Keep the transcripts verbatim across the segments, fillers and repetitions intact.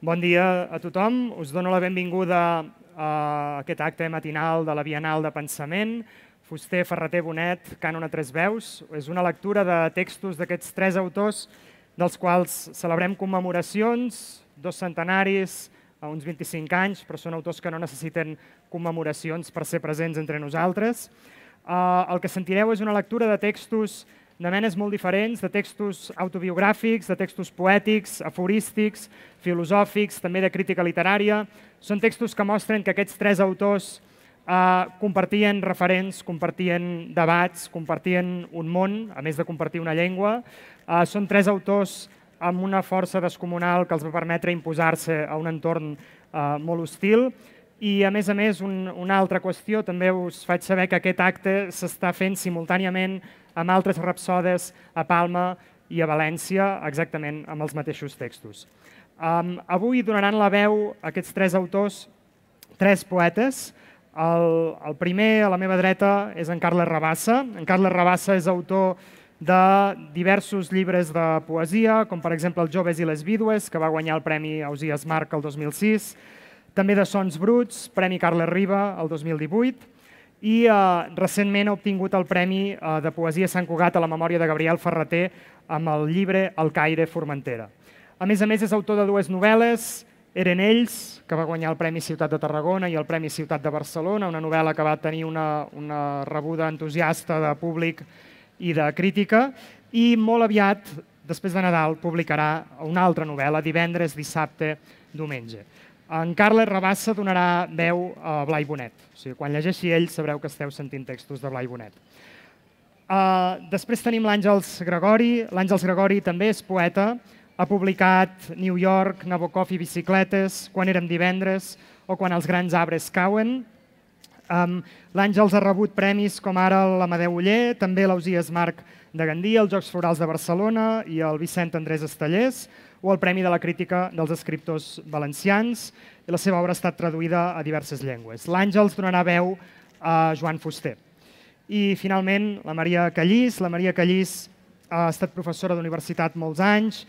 Bon dia a tothom. Us dono la benvinguda a aquest acte matinal de la Bienal de Pensament. Fuster, Ferrater, Bonet, Cànon a tres veus. És una lectura de textos d'aquests tres autors dels quals celebrem commemoracions, dos centenaris, a uns vint-i-cinc anys, però són autors que no necessiten commemoracions per ser presents entre nosaltres. El que sentireu és una lectura de textos de menes molt diferents, de textos autobiogràfics, de textos poètics, aforístics, filosòfics, també de crítica literària. Són textos que mostren que aquests tres autors compartien referents, compartien debats, compartien un món, a més de compartir una llengua. Són tres autors amb una força descomunal que els va permetre imposar-se a un entorn molt hostil. I, a més a més, una altra qüestió, també us faig saber que aquest acte s'està fent simultàniament amb altres rapsodes a Palma i a València, exactament amb els mateixos textos. Avui donaran la veu a aquests tres autors, tres poetes. El primer, a la meva dreta, és en Carles Rabassa. En Carles Rabassa és autor de diversos llibres de poesia, com per exemple Els joves i les vídues, que va guanyar el Premi Ausiàs Marc el dos mil sis, també de Sons bruts, Premi Carles Riba el dos mil divuit, i recentment ha obtingut el Premi de Poesia Sant Cugat a la memòria de Gabriel Ferrater amb el llibre El Caire Formentera. A més a més, és autor de dues novel·les, Eren ells, que va guanyar el Premi Ciutat de Tarragona i el Premi Ciutat de Barcelona, una novel·la que va tenir una rebuda entusiasta de públic i de crítica, i molt aviat, després de Nadal, publicarà una altra novel·la, Divendres, dissabte, diumenge. En Carles Rabassa donarà veu a Blai Bonet. O sigui, quan llegeixi ell sabreu que esteu sentint textos de Blai Bonet. Després tenim l'Àngels Gregori. L'Àngels Gregori també és poeta. Ha publicat New York, Nabokov i bicicletes, Quan érem divendres o Quan els grans arbres cauen. L'Àngels ha rebut premis com ara l'Amadeu Oller, també l'Ausiàs Marc de Gandia, els Jocs Florals de Barcelona i el Vicent Andrés Estellers, o el Premi de la Crítica dels Escriptors Valencians, i la seva obra ha estat traduïda a diverses llengües. L'Àngels donarà veu a Joan Fuster. I, finalment, la Maria Callís. La Maria Callís ha estat professora d'universitat molts anys,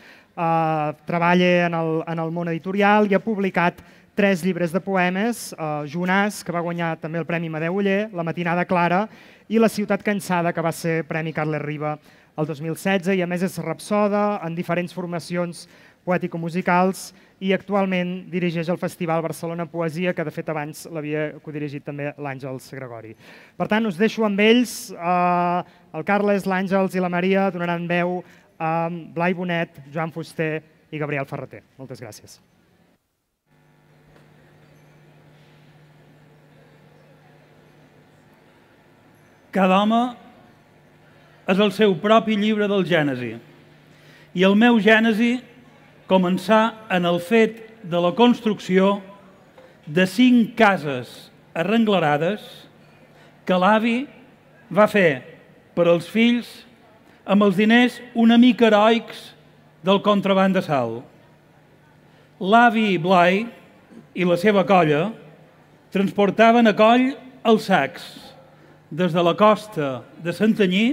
treballa en el món editorial i ha publicat tres llibres de poemes, Jonàs, que va guanyar també el Premi Amadeu Oller, La matinada clara, i La ciutat cansada, que va ser Premi Carles Riba el dos mil setze, i a més és rapsoda en diferents formacions poètico-musicals i actualment dirigeix el Festival Barcelona Poesia, que de fet abans l'havia codirigit també l'Àngels Gregori. Per tant, us deixo amb ells. El Carles, l'Àngels i la Maria donaran veu a Blai Bonet, Joan Fuster i Gabriel Ferrater. Moltes gràcies. Cada home és el seu propi llibre del Gènesi. I el meu Gènesi començà en el fet de la construcció de cinc cases arrenglerades que l'avi va fer per als fills amb els diners una mica heroics del contraban de sal. L'avi Blai i la seva colla transportaven a coll els sacs des de la costa de Santanyí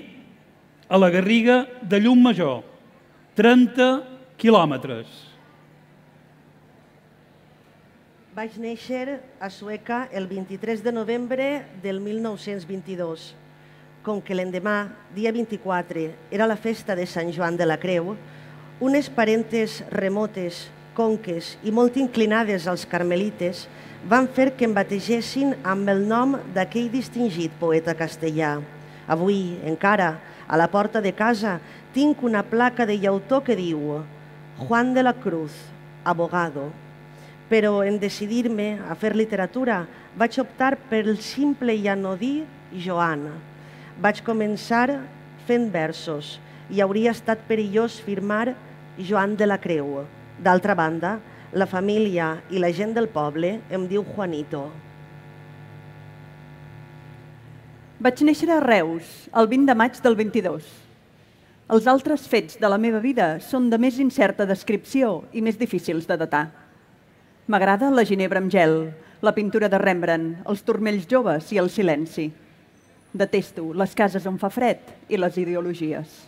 a la Garriga de Llumajor, trenta quilòmetres. Vaig néixer a Sueca el vint-i-tres de novembre del mil nou-cents vint-i-dos. Com que l'endemà, dia vint-i-quatre, era la festa de Sant Joan de la Creu, unes parentes remotes, conques i molt inclinades als carmelites van fer que em bategessin amb el nom d'aquell distingit poeta castellà. Avui, encara, a la porta de casa, tinc una placa de llautó que diu Juan de la Cruz, abogado. Però en decidir-me a fer literatura vaig optar pel simple i anodí Joan. Vaig començar fent versos i hauria estat perillós firmar Joan de la Creu. D'altra banda, la família i la gent del poble em diu Juanito. Vaig néixer a Reus, el vint de maig del vint-i-dos. Els altres fets de la meva vida són de més incerta descripció i més difícils de datar. M'agrada la ginebra amb gel, la pintura de Rembrandt, els turmells joves i el silenci. Detesto les cases on fa fred i les ideologies.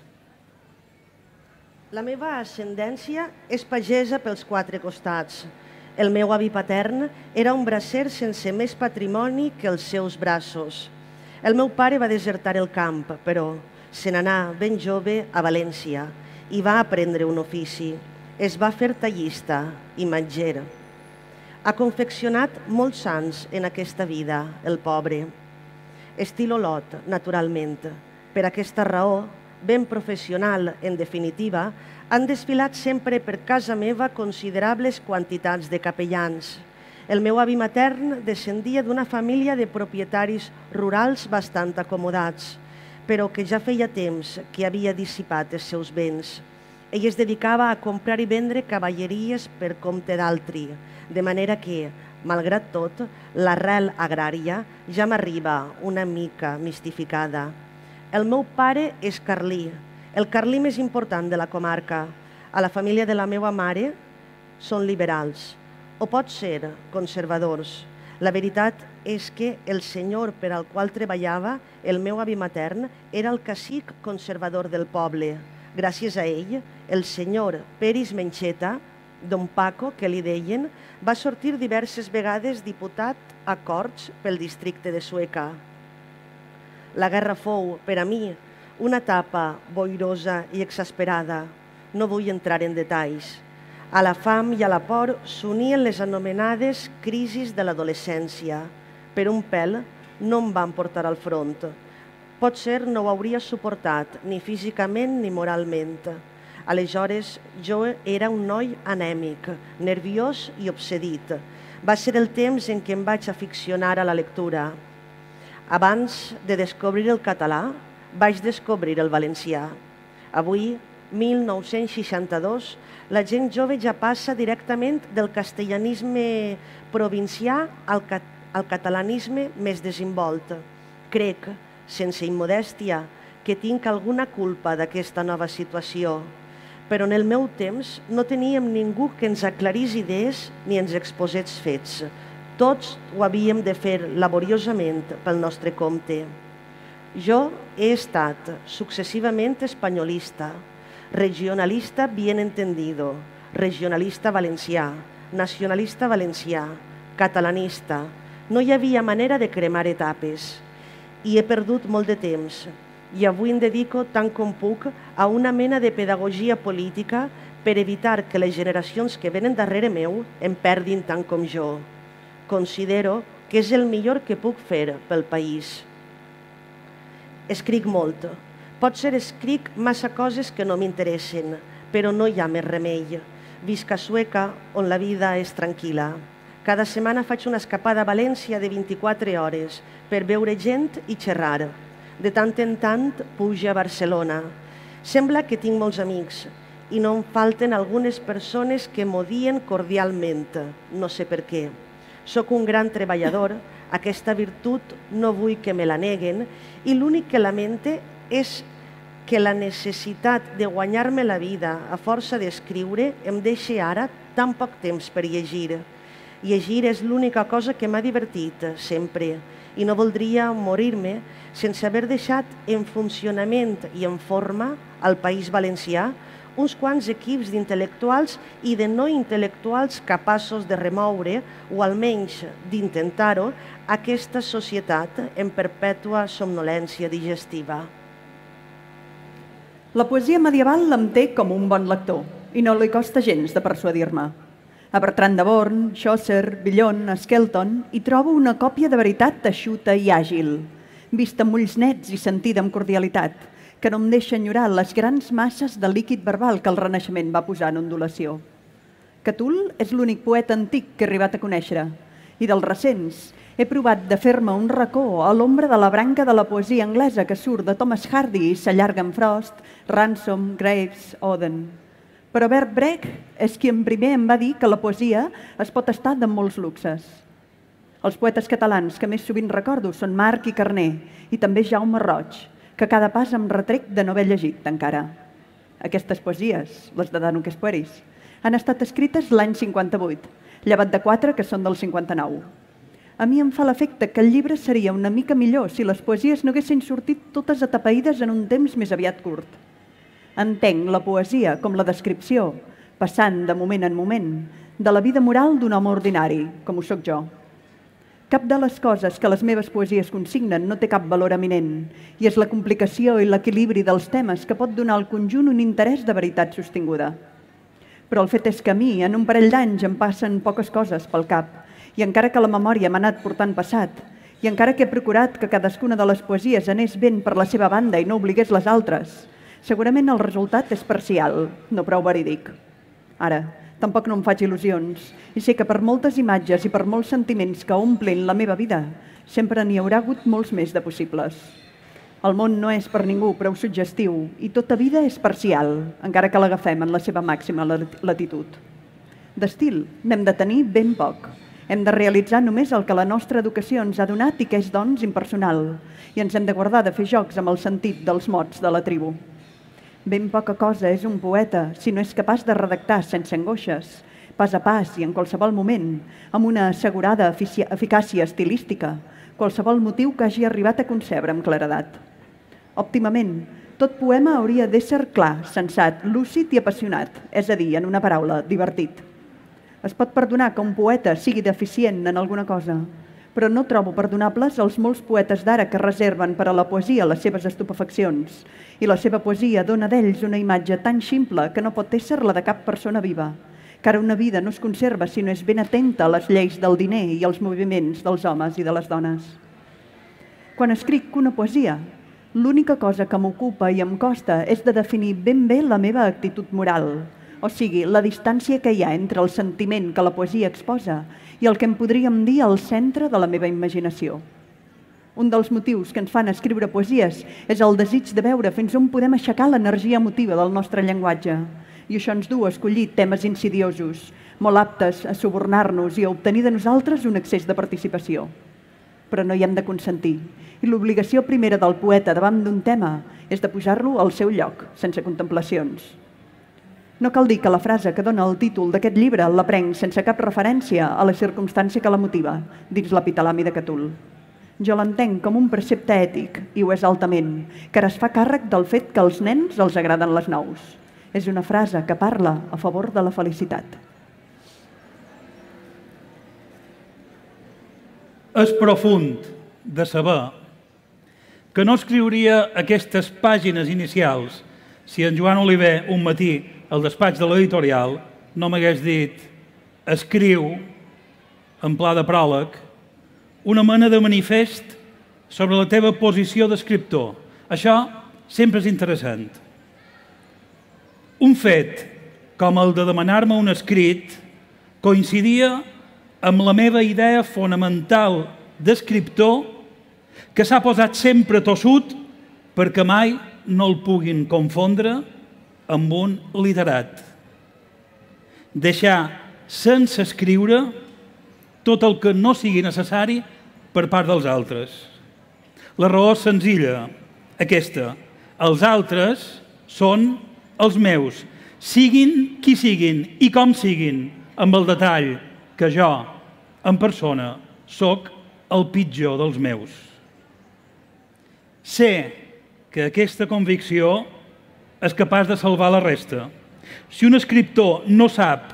La meva ascendència és pagesa pels quatre costats. El meu avi patern era un bracer sense més patrimoni que els seus braços. El meu pare va desertar el camp, però se n'anà ben jove a València i va aprendre un ofici. Es va fer tallista i matger. Ha confeccionat molts sants en aquesta vida, el pobre. Estil Olot, naturalment. Per aquesta raó, ben professional, en definitiva, han desfilat sempre per casa meva considerables quantitats de capellans. El meu avi matern descendia d'una família de propietaris rurals bastant acomodats, però que ja feia temps que havia dissipat els seus béns. Ell es dedicava a comprar i vendre cavalleries per compte d'altri, de manera que, malgrat tot, l'arrel agrària ja m'arriba una mica mistificada. El meu pare és carlí, el carlí més important de la comarca. A la família de la meva mare són liberals, o pot ser conservadors. La veritat és que el senyor per al qual treballava el meu avi matern era el cacic conservador del poble. Gràcies a ell, el senyor Peris Mencheta, don Paco, que li deien, va sortir diverses vegades diputat a Corts pel districte de Sueca. La guerra fou, per a mi, una etapa boirosa i exasperada. No vull entrar en detalls. A la fam i a la por s'unien les anomenades crisis de l'adolescència. Per un pèl no em van portar al front. Potser no ho hauria suportat, ni físicament ni moralment. Aleshores, jo era un noi anèmic, nerviós i obsedit. Va ser el temps en què em vaig aficionar a la lectura. Abans de descobrir el català, vaig descobrir el valencià. Avui, mil nou-cents seixanta-dos, la gent jove ja passa directament del castellanisme provincià al, cat al catalanisme més desenvolt. Crec, sense immodèstia, que tinc alguna culpa d'aquesta nova situació, però en el meu temps no teníem ningú que ens aclarís idees ni ens exposés fets. Tots ho havíem de fer laboriosament pel nostre compte. Jo he estat successivament espanyolista, regionalista bien entendido, regionalista valencià, nacionalista valencià, catalanista. No hi havia manera de cremar etapes. I he perdut molt de temps. I avui em dedico tant com puc a una mena de pedagogia política per evitar que les generacions que venen darrere meu em perdin tant com jo. Considero que és el millor que puc fer pel país. Escric molt. Potser escric massa coses que no m'interessen, però no hi ha més remei. Visc a Sueca, on la vida és tranquil·la. Cada setmana faig una escapada a València de vint-i-quatre hores per veure gent i xerrar. De tant en tant pujo a Barcelona. Sembla que tinc molts amics i no em falten algunes persones que m'odien cordialment. No sé per què. Soc un gran treballador, aquesta virtut no vull que me la neguen i l'únic que lamente és que la necessitat de guanyar-me la vida a força d'escriure em deixa ara tan poc temps per llegir. Llegir és l'única cosa que m'ha divertit sempre i no voldria morir-me sense haver deixat en funcionament i en forma al País Valencià uns quants equips d'intel·lectuals i de no intel·lectuals capaços de remoure, o almenys d'intentar-ho, aquesta societat en perpètua somnolència digestiva. La poesia medieval em té com un bon lector i no li costa gens de persuadir-me. A Bertran de Born, Chaucer, Villon, Skelton hi trobo una còpia de veritat eixuta i àgil, vista amb ulls nets i sentida amb cordialitat, que no em deixa enyorar les grans masses de líquid verbal que el Renaixement va posar en ondulació. Catull és l'únic poeta antic que he arribat a conèixer, i dels recents he provat de fer-me un racó a l'ombra de la branca de la poesia anglesa que surt de Thomas Hardy i s'allarga en Frost, Ransom, Graves, Auden. Però Bert Brecht és qui en primer em va dir que la poesia es pot estar de molts luxes. Els poetes catalans que més sovint recordo són Marc i Carner i també Jaume Roig, que cada pas em retrec de no haver llegit encara. Aquestes poesies, les de Danuques Pueris, han estat escrites l'any cinquanta-vuit, llevat de quatre que són del cinquanta-nou. A mi em fa l'efecte que el llibre seria una mica millor si les poesies no haguessin sortit totes atapeïdes en un temps més aviat curt. Entenc la poesia com la descripció, passant de moment en moment, de la vida moral d'un home ordinari, com ho sóc jo. Cap de les coses que les meves poesies consignen no té cap valor eminent, i és la complicació i l'equilibri dels temes que pot donar al conjunt un interès de veritat sostinguda. Però el fet és que a mi, en un parell d'anys, em passen poques coses pel cap, i encara que la memòria m'ha anat portant passat, i encara que he procurat que cadascuna de les poesies anés ben per la seva banda i no obligués les altres, segurament el resultat és parcial, no prou verídic. Ara, tampoc no em faig il·lusions, i sé que per moltes imatges i per molts sentiments que omplin la meva vida, sempre n'hi haurà hagut molts més de possibles. El món no és per ningú prou suggestiu i tota vida és parcial, encara que l'agafem en la seva màxima latitud. D'estil n'hem de tenir ben poc. Hem de realitzar només el que la nostra educació ens ha donat i que és, doncs, impersonal, i ens hem de guardar de fer jocs amb el sentit dels mots de la tribu. Ben poca cosa és un poeta si no és capaç de redactar sense angoixes, pas a pas i en qualsevol moment, amb una assegurada eficàcia estilística, qualsevol motiu que hagi arribat a concebre amb claredat. Òptimament, tot poema hauria d'ésser clar, sensat, lúcid i apassionat, és a dir, en una paraula, divertit. Es pot perdonar que un poeta sigui deficient en alguna cosa, però no trobo perdonables els molts poetes d'ara que reserven per a la poesia les seves estupefaccions, i la seva poesia dona d'ells una imatge tan ximple que no pot ésser la de cap persona viva, que ara una vida no es conserva si no és ben atenta a les lleis del diner i als moviments dels homes i de les dones. Quan escric una poesia, l'única cosa que m'ocupa i em costa és de definir ben bé la meva actitud moral, o sigui, la distància que hi ha entre el sentiment que la poesia exposa i el que en podríem dir el centre de la meva imaginació. Un dels motius que ens fan escriure poesies és el desig de veure fins on podem aixecar l'energia emotiva del nostre llenguatge, i això ens du a escollir temes insidiosos, molt aptes a subornar-nos i a obtenir de nosaltres un excés de participació. Però no hi hem de consentir, i l'obligació primera del poeta davant d'un tema és de posar-lo al seu lloc, sense contemplacions. No cal dir que la frase que dona el títol d'aquest llibre la prenc sense cap referència a la circumstància que la motiva, dins l'epitalami de Catul. Jo l'entenc com un precepte ètic, i ho és altament, que ara es fa càrrec del fet que als nens els agraden les nous. És una frase que parla a favor de la felicitat. És profund de saber que no escriuria aquestes pàgines inicials si en Joan Oliver un matí al despatx de l'editorial no m'hagués dit escriu, en pla de pròleg, una mena de manifest sobre la teva posició d'escriptor. Això sempre és interessant. Un fet com el de demanar-me un escrit coincidia amb la meva idea fonamental d'escriptor que s'ha posat sempre tossut perquè mai no el puguin confondre amb un literat. Deixar sense escriure tot el que no sigui necessari per part dels altres. La raó és senzilla, aquesta. Els altres són els meus, siguin qui siguin i com siguin, amb el detall que jo, en persona, sóc el pitjor dels meus. Sé que aquesta convicció és capaç de salvar la resta. Si un escriptor no sap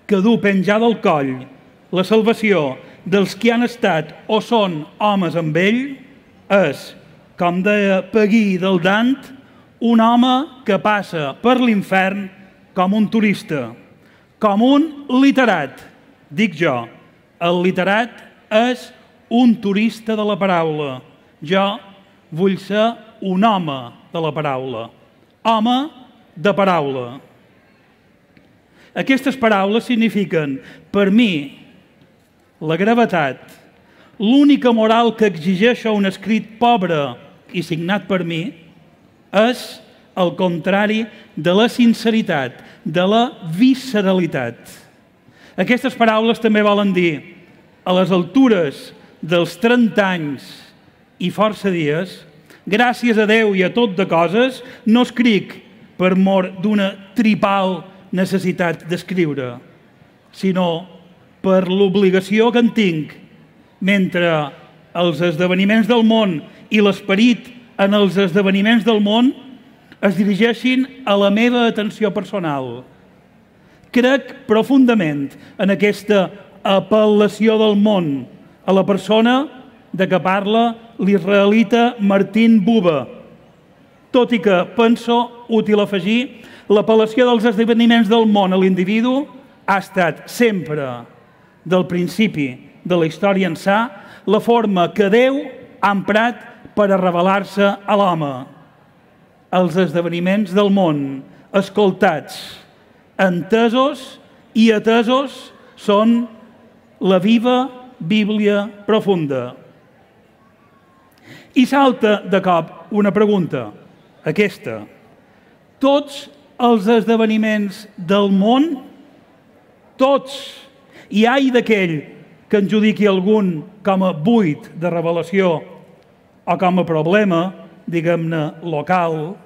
que dur penjada al coll la salvació dels que han estat o són homes amb ell, és, com deia Peguí del Dant, un home que passa per l'infern com un turista, com un literat. Dic jo, el literat és un turista de la paraula. Jo vull ser un home de la paraula. Home de paraula. Aquestes paraules signifiquen, per mi, la gravetat, l'única moral que exigeixo un escrit pobre i signat per mi, és el contrari de la sinceritat, de la visceralitat. Aquestes paraules també volen dir, a les altures dels trenta anys i força dies, gràcies a Déu i a tot de coses, no escric per mor d'una tripal necessitat d'escriure, sinó per l'obligació que en tinc, mentre els esdeveniments del món i l'esperit en els esdeveniments del món es dirigeixin a la meva atenció personal. Crec profundament en aquesta apel·lació del món a la persona de què parla l'israelita Martin Buber, tot i que penso útil afegir l'apel·lació dels esdeveniments del món a l'individu ha estat sempre, del principi de la història ençà, la forma que Déu ha emprat per a revelar-se a l'home. Els esdeveniments del món, escoltats, entesos i atesos, són la viva Bíblia profunda. I salta de cop una pregunta, aquesta. Tots els esdeveniments del món, tots, i ai d'aquell que en judiqui algun com a buit de revelació o com a problema, diguem-ne, local,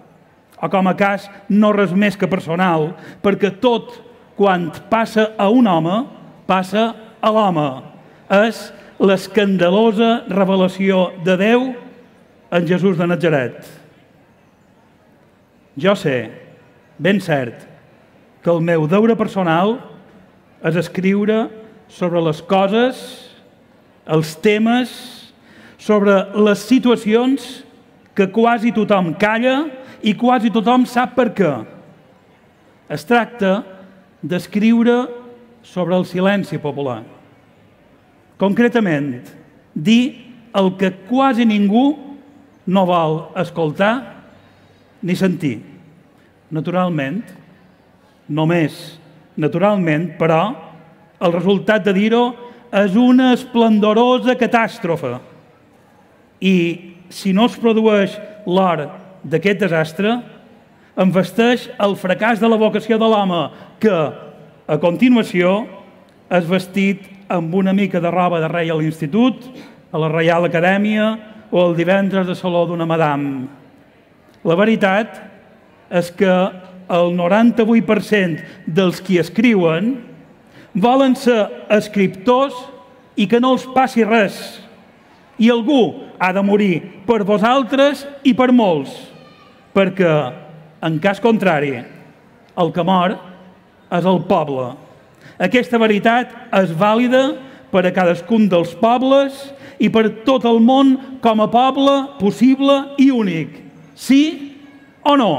o com a cas no res més que personal, perquè tot, quan passa a un home, passa a l'home. És l'escandalosa revelació de Déu en Jesús de Natzaret. Jo sé, ben cert, que el meu deure personal és escriure sobre les coses, els temes, sobre les situacions que quasi tothom calla i quasi tothom sap per què. Es tracta d'escriure sobre el silenci popular. Concretament, dir el que quasi ningú no vol escoltar ni sentir. Naturalment, només naturalment, però, el resultat de dir-ho és una esplendorosa catàstrofe. I si no es produeix l'hora d'aquest desastre, envesteix el fracàs de la vocació de l'home que, a continuació, és vestit amb una mica de roba de rei a l'institut, a la Reial Acadèmia o el divendres de saló d'una madame. La veritat és que el noranta-vuit per cent dels qui escriuen volen ser escriptors i que no els passi res. I algú ha de morir per vosaltres i per molts, perquè, en cas contrari, el que mor és el poble. Aquesta veritat és vàlida per a cadascun dels pobles i per tot el món com a poble possible i únic. Sí o no?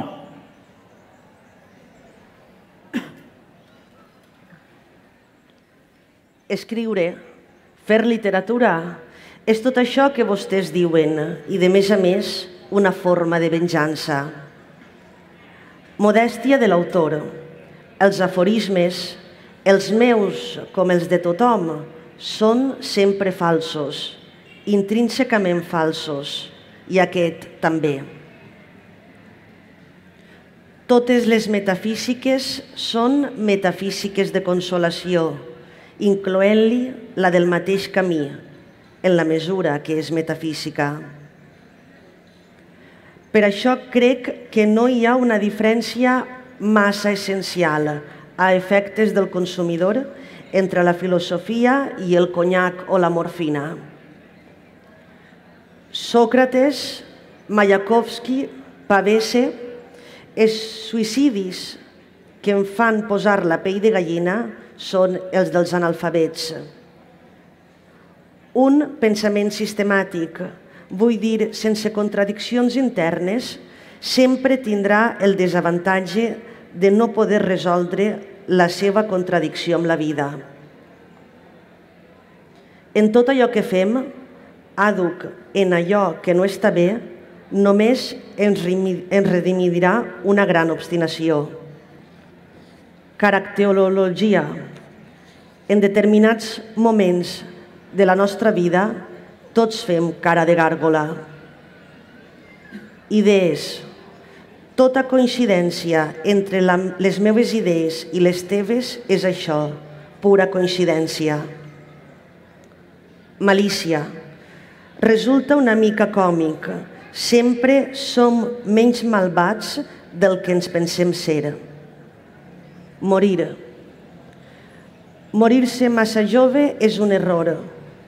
Escriure, fer literatura, és tot això que vostès diuen i, de més a més, una forma de venjança. Modèstia de l'autor. Els aforismes, els meus com els de tothom, són sempre falsos, intrínsecament falsos, i aquest també. Totes les metafísiques són metafísiques de consolació, incloent-li la del mateix camí, en la mesura que és metafísica. Per això crec que no hi ha una diferència massa essencial a efectes del consumidor entre la filosofia i el conyac o la morfina. Sòcrates, Mayakovsky, Pavese, els suïcidis que em fan posar la pell de gallina són els dels analfabets. Un pensament sistemàtic, vull dir, sense contradiccions internes, sempre tindrà el desavantatge de no poder resoldre la seva contradicció amb la vida. En tot allò que fem, àduc en allò que no està bé, només ens redimirà una gran obstinació. Caracterologia. En determinats moments de la nostra vida, tots fem cara de gàrgola. Idees. Tota coincidència entre les meves idees i les teves és això, pura coincidència. Malícia. Resulta una mica còmic. Sempre som menys malvats del que ens pensem ser. Morir. Morir-se massa jove és un error.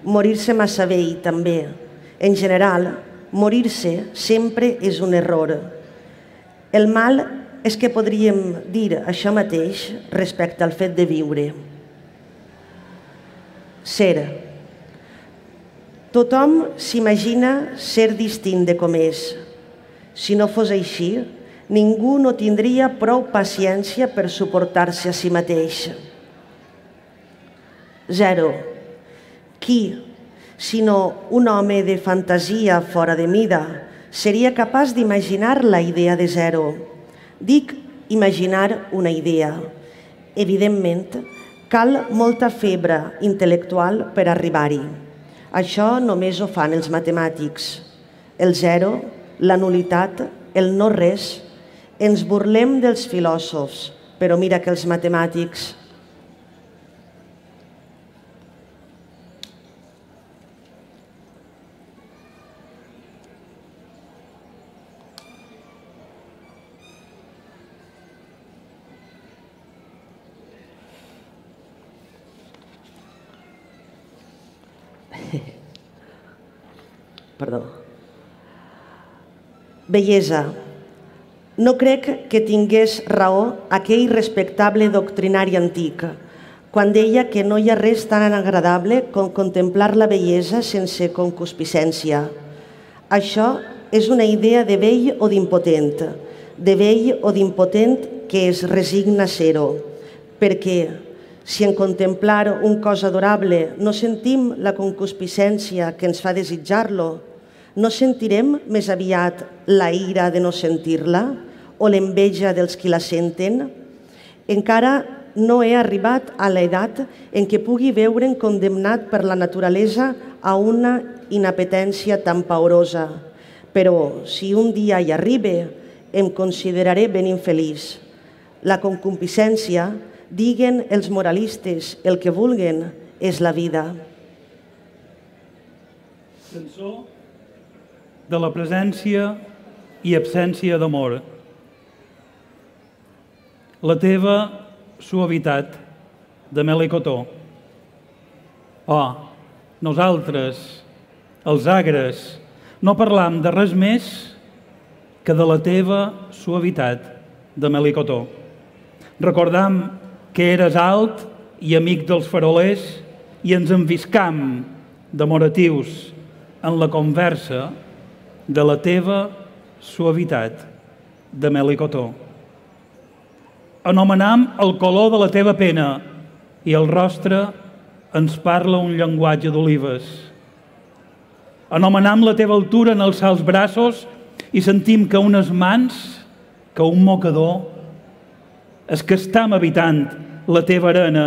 Morir-se massa vell també. En general, morir-se sempre és un error. El mal és que podríem dir això mateix respecte al fet de viure. Ser. Tothom s'imagina ser distint de com és. Si no fos així, ningú no tindria prou paciència per suportar-se a si mateix. Zero. Qui, sinó un home de fantasia fora de mida, seria capaç d'imaginar la idea de zero. Dic imaginar una idea. Evidentment, cal molta febre intel·lectual per arribar-hi. Això només ho fan els matemàtics. El zero, la nulitat, el no res. Ens burlem dels filòsofs, però mira que els matemàtics... Perdó. Bellesa. No crec que tingués raó aquell respectable doctrinari antic, quan deia que no hi ha res tan agradable com contemplar la bellesa sense concupiscència. Això és una idea de vell o d'impotent, de vell o d'impotent que es resigna a ser-ho, perquè si en contemplar un cos adorable no sentim la concupiscència que ens fa desitjar-lo, no sentirem més aviat la ira de no sentir-la o l'enveja dels qui la senten? Encara no he arribat a l'edat en què pugui veure'n condemnat per la naturalesa a una inapetència tan paurosa, però si un dia hi arribe, em consideraré ben infeliç. La concupiscència, diguen els moralistes, el que vulguen, és la vida. Cançó de la presència i absència d'amor. La teva suavitat, de mel i cotó. Oh, nosaltres, els agres, no parlam de res més que de la teva suavitat, de mel i cotó. Recordam que eres alt i amic dels farolers i ens enviscam demoratius en la conversa de la teva suavitat, de mel i cotó. Anomenam el color de la teva pena i el rostre ens parla un llenguatge d'olives. Anomenam la teva altura en alçar els braços i sentim que unes mans, que un mocador, és que estam habitant la teva arena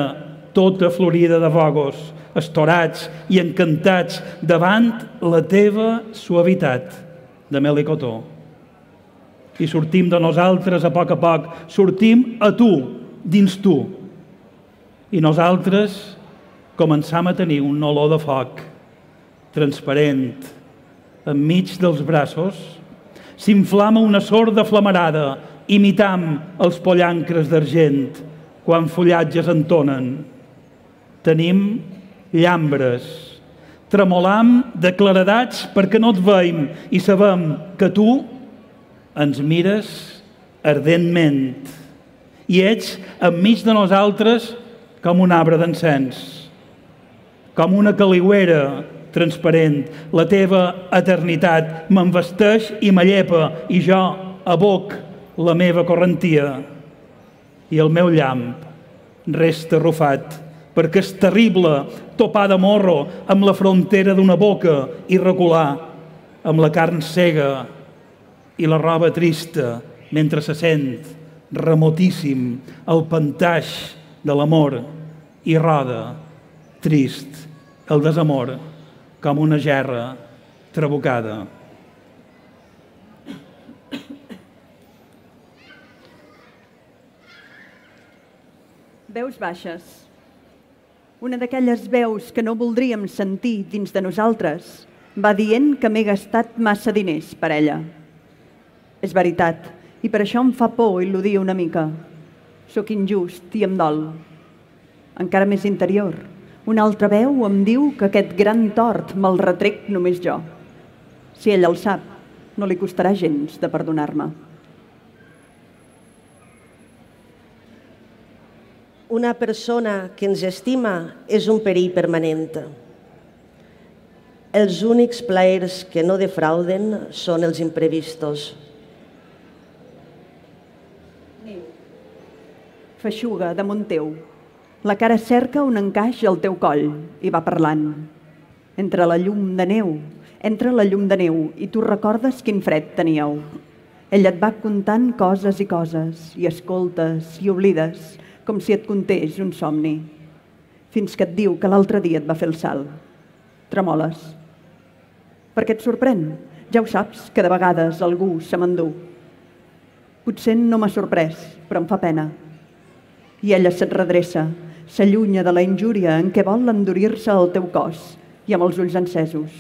tota florida de vogos, estorats i encantats davant la teva suavitat, de mel i cotó. I sortim de nosaltres a poc a poc, sortim a tu, dins tu. I nosaltres començam a tenir un olor de foc, transparent, enmig dels braços, s'inflama una sorda flamarada, imitam els pollancres d'argent quan fullatges entonen. Tenim llambres, tremolam de claredats perquè no et veiem i sabem que tu ens mires ardentment i ets enmig de nosaltres com un arbre d'encens, com una caliuera transparent. La teva eternitat m'envesteix i m'allepa i jo aboc la meva correntia i el meu llamp resta arrufat perquè és terrible topar de morro amb la frontera d'una boca i recular amb la carn cega i la roba trista mentre se sent remotíssim el pantaix de l'amor i roda, trist, el desamor com una gerra trabucada. Veus baixes. Una d'aquelles veus que no voldríem sentir dins de nosaltres va dient que m'he gastat massa diners per ella. És veritat, i per això em fa por il·ludir una mica. Sóc injust i em dol. Encara més interior, una altra veu em diu que aquest gran tort me'l retrec només jo. Si ella el sap, no li costarà gens de perdonar-me. Una persona que ens estima és un perill permanent. Els únics plaers que no defrauden són els imprevistos. Feixuga damunt teu. La cara cerca un encaix al teu coll i va parlant. Entre la llum de neu, entra la llum de neu i tu recordes quin fred teníeu. Ell et va contant coses i coses, i escoltes i oblides, com si et contés un somni, fins que et diu que l'altre dia et va fer el salt. Tremoles. Per què et sorprèn? Ja ho saps, que de vegades algú se m'endú. Potser no m'ha sorprès, però em fa pena. I ella se't redreça, s'allunya de la injúria en què vol endurir-se el teu cos i amb els ulls encesos.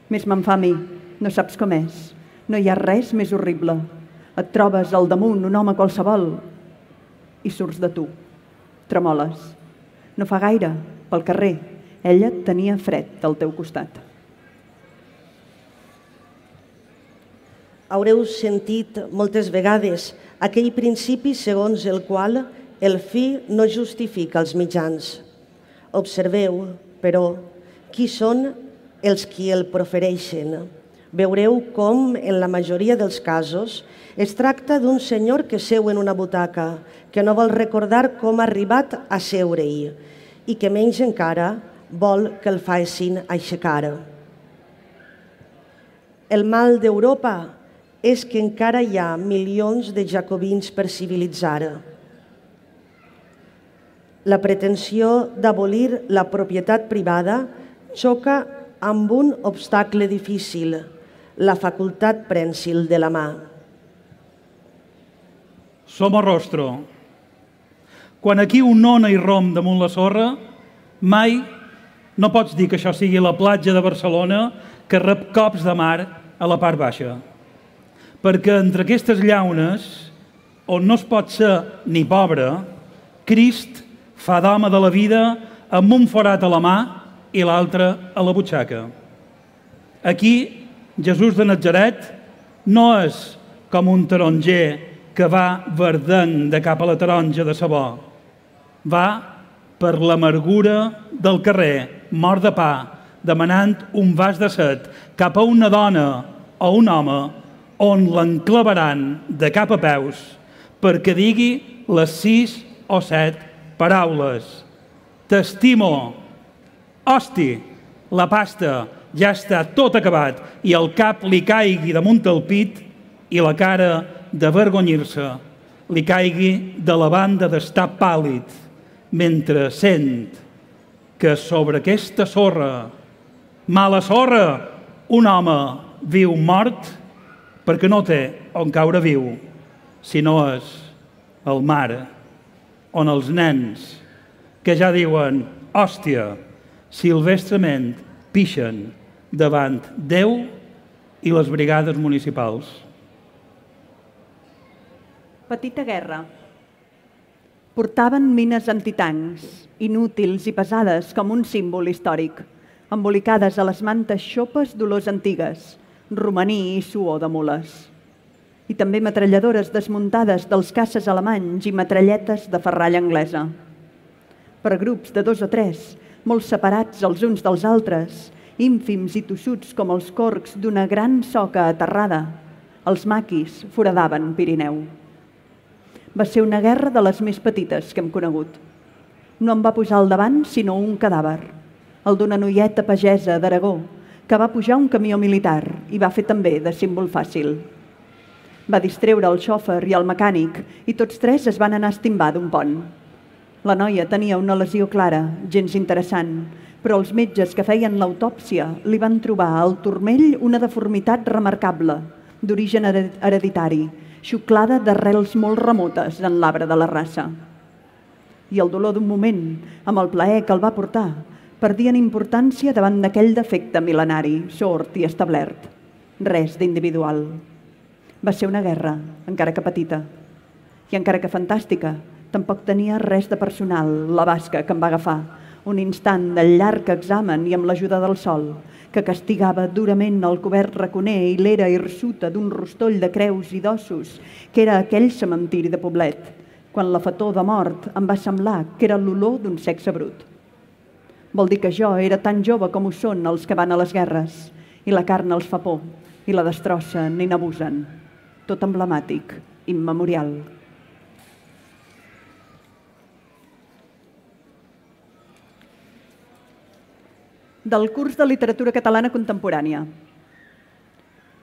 Més me'n fa a mi, no saps com és. No hi ha res més horrible. Et trobes al damunt un home qualsevol i surts de tu. Tremoles. No fa gaire, pel carrer, ella tenia fred al teu costat. Haureu sentit moltes vegades aquell principi segons el qual el fi no justifica els mitjans. Observeu, però, qui són els qui el profereixen. Veureu com, en la majoria dels casos, es tracta d'un senyor que seu en una butaca, que no vol recordar com ha arribat a seure-hi i que menys encara vol que el facin aixecar. El mal d'Europa és que encara hi ha milions de jacobins per civilitzar. La pretensió d'abolir la propietat privada xoca amb un obstacle difícil, la facultat prènsil de la mà. Som a rostro. Quan aquí un ona i rom damunt la sorra, mai no pots dir que això sigui la platja de Barcelona que rep cops de mar a la part baixa. Perquè entre aquestes llaunes, on no es pot ser ni pobre, Crist fa d'home de la vida amb un forat a la mà i l'altre a la butxaca. Aquí, Jesús de Natzaret no és com un taronger que va verdenc de cap a la taronja de sabó. Va per l'amargura del carrer, mort de pa, demanant un vas de set cap a una dona o un home on l'enclavaran de cap a peus perquè digui les sis o set paraules. T'estimo. Hosti, la pasta ja està tot acabat i el cap li caigui damunt el pit i la cara d'avergonyir-se li caigui de la banda d'estar pàl·lid mentre sent que sobre aquesta sorra, mala sorra, un home viu mort perquè no té on caure viu, sinó és el mar, on els nens que ja diuen hòstia, silvestrement pixen davant Déu i les brigades municipals. Petita guerra. Portaven mines antitancs, inútils i pesades com un símbol històric, embolicades a les mantes xopes d'olors antigues, romaní i suor de mules. I també metralladores desmuntades dels caces alemanys i metralletes de ferralla anglesa. Per grups de dos o tres, molt separats els uns dels altres, ínfims i tossuts com els corcs d'una gran soca aterrada, els maquis foradaven Pirineu. Va ser una guerra de les més petites que hem conegut. No em va posar al davant sinó un cadàver, el d'una noieta pagesa d'Aragó, que va pujar un camió militar i va fer també de símbol fàcil. Va distreure el xòfer i el mecànic i tots tres es van anar a estimbar d'un pont. La noia tenia una lesió clara, gens interessant, però els metges que feien l'autòpsia li van trobar al turmell una deformitat remarcable, d'origen hereditari, xuclada d'arrels molt remotes en l'arbre de la raça. I el dolor d'un moment, amb el plaer que el va portar, perdien importància davant d'aquell defecte mil·lenari, sord i establert. Res d'individual. Va ser una guerra, encara que petita. I encara que fantàstica, tampoc tenia res de personal, la basca que em va agafar, un instant del llarg examen i amb l'ajuda del sol, que castigava durament el cobert raconer i l'era hirsuta d'un rostoll de creus i d'ossos, que era aquell cementiri de Poblet, quan la fetor de mort em va semblar que era l'olor d'un sexe brut. Vol dir que jo era tan jove com ho són els que van a les guerres, i la carn els fa por, i la destrossen i n'abusen. Tot emblemàtic, immemorial. Del curs de literatura catalana contemporània.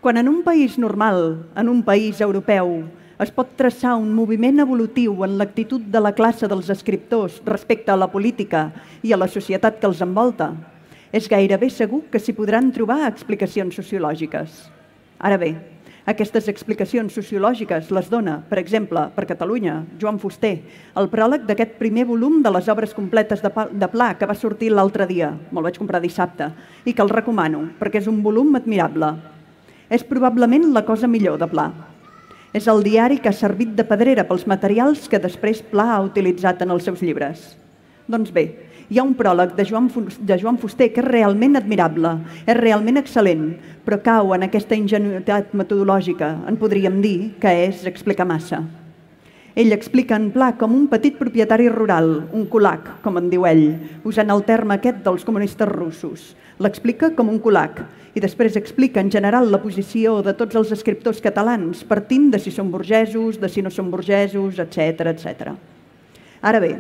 Quan en un país normal, en un país europeu, es pot traçar un moviment evolutiu en l'actitud de la classe dels escriptors respecte a la política i a la societat que els envolta, és gairebé segur que s'hi podran trobar explicacions sociològiques. Ara bé, aquestes explicacions sociològiques les dona, per exemple, per Catalunya, Joan Fuster, el pròleg d'aquest primer volum de les obres completes de Pla que va sortir l'altre dia, me'l vaig comprar dissabte, i que el recomano, perquè és un volum admirable. És probablement la cosa millor de Pla. És el diari que ha servit de pedrera pels materials que després Pla ha utilitzat en els seus llibres. Doncs bé, hi ha un pròleg de Joan, de Joan Fuster que és realment admirable, és realment excel·lent, però cau en aquesta ingenuïtat metodològica, en podríem dir que és explicar massa. Ell explica en Pla com un petit propietari rural, un kulak, com en diu ell, usant el terme aquest dels comunistes russos. L'explica com un kulak i després explica en general la posició de tots els escriptors catalans partint de si són burgesos, de si no són burgesos, etcètera, etcètera. Ara bé,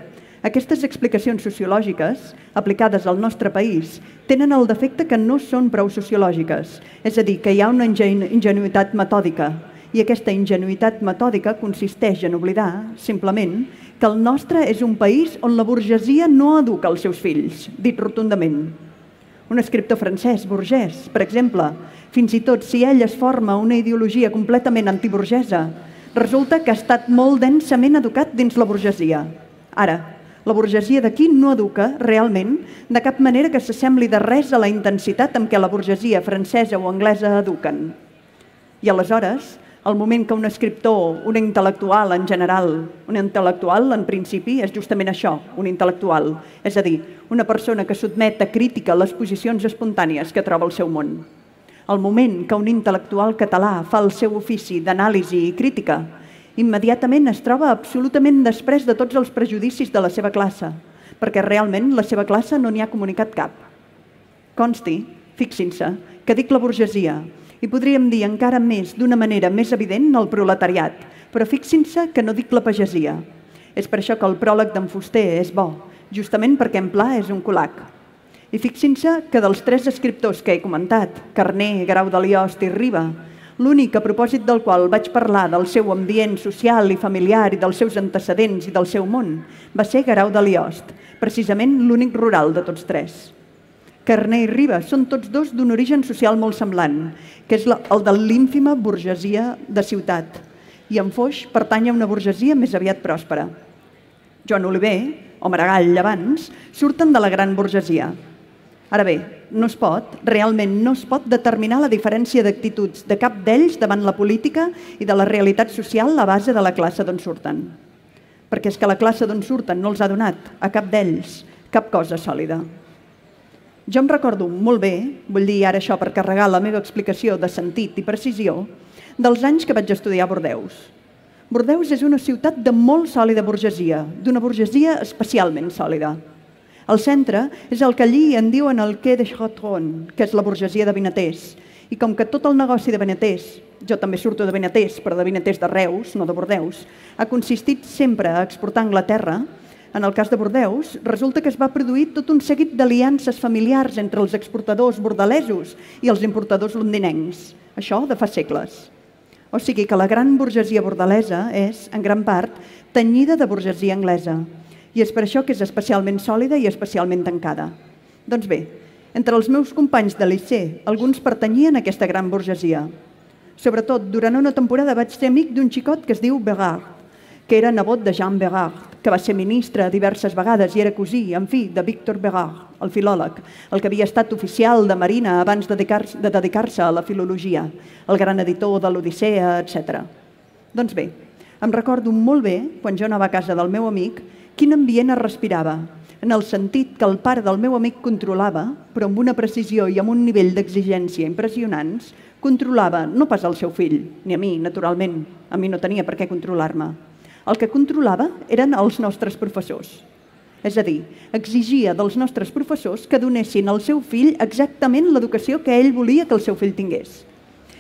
aquestes explicacions sociològiques, aplicades al nostre país, tenen el defecte que no són prou sociològiques, és a dir, que hi ha una ingenuïtat metòdica, i aquesta ingenuïtat metòdica consisteix en oblidar, simplement, que el nostre és un país on la burgesia no educa els seus fills, dit rotundament. Un escriptor francès, Bourges, per exemple, fins i tot si ell es forma una ideologia completament antiburgesa, resulta que ha estat molt densament educat dins la burgesia. Ara, la burgesia d'aquí no educa, realment, de cap manera que s'assembli de res a la intensitat amb què la burgesia francesa o anglesa eduquen. I aleshores, al moment que un escriptor, un intel·lectual en general, un intel·lectual en principi és justament això, un intel·lectual, és a dir, una persona que sotmet a crítica les posicions espontànies que troba al seu món. Al moment que un intel·lectual català fa el seu ofici d'anàlisi i crítica, immediatament es troba absolutament després de tots els prejudicis de la seva classe, perquè realment la seva classe no n'hi ha comunicat cap. Consti, fixin-se, que dic la burgesia, i podríem dir encara més, d'una manera més evident, el proletariat, però fixin-se que no dic la pagesia. És per això que el pròleg d'en Fuster és bo, justament perquè en Pla és un kulak. I fixin-se que dels tres escriptors que he comentat, Carner, Guerau de Liost i Riba, l'únic a propòsit del qual vaig parlar del seu ambient social i familiar i dels seus antecedents i del seu món, va ser Guerau de Liost, precisament l'únic rural de tots tres. Carner i Riba són tots dos d'un origen social molt semblant, que és el de l'ínfima burgesia de ciutat, i en Foix pertany a una burgesia més aviat pròspera. Joan Oliver, o Maragall abans, surten de la gran burgesia. Ara bé, no es pot, realment no es pot determinar la diferència d'actituds de cap d'ells davant la política i de la realitat social a base de la classe d'on surten. Perquè és que la classe d'on surten no els ha donat, a cap d'ells, cap cosa sòlida. Jo em recordo molt bé, vull dir ara això per carregar la meva explicació de sentit i precisió, dels anys que vaig estudiar a Bordeus. Bordeus és una ciutat de molt sòlida burgesia, d'una burgesia especialment sòlida. El centre és el que allí en diuen el Quai de Chateaubriand, que és la burgesia de Vinaters, i com que tot el negoci de Vinaters, jo també surto de Vinaters, però de Vinaters de Reus, no de Bordeus, ha consistit sempre a exportar a Anglaterra. En el cas de Bordeus, resulta que es va produir tot un seguit d'aliances familiars entre els exportadors bordalesos i els importadors londinencs. Això de fa segles. O sigui que la gran burgesia bordalesa és, en gran part, tenyida de burgesia anglesa. I és per això que és especialment sòlida i especialment tancada. Doncs bé, entre els meus companys de liceu, alguns pertanyien a aquesta gran burgesia. Sobretot, durant una temporada vaig ser amic d'un xicot que es diu Bérard, que era nebot de Jean Bérard, que va ser ministre diverses vegades i era cosí, en fi, de Victor Bérard, el filòleg, el que havia estat oficial de Marina abans de dedicar-se a la filologia, el gran editor de l'Odissea, etcètera. Doncs bé, em recordo molt bé, quan jo anava a casa del meu amic, quin ambient es respirava, en el sentit que el pare del meu amic controlava, però amb una precisió i amb un nivell d'exigència impressionants, controlava no pas el seu fill, ni a mi, naturalment, a mi no tenia per què controlar-me. El que controlava eren els nostres professors. És a dir, exigia dels nostres professors que donessin al seu fill exactament l'educació que ell volia que el seu fill tingués.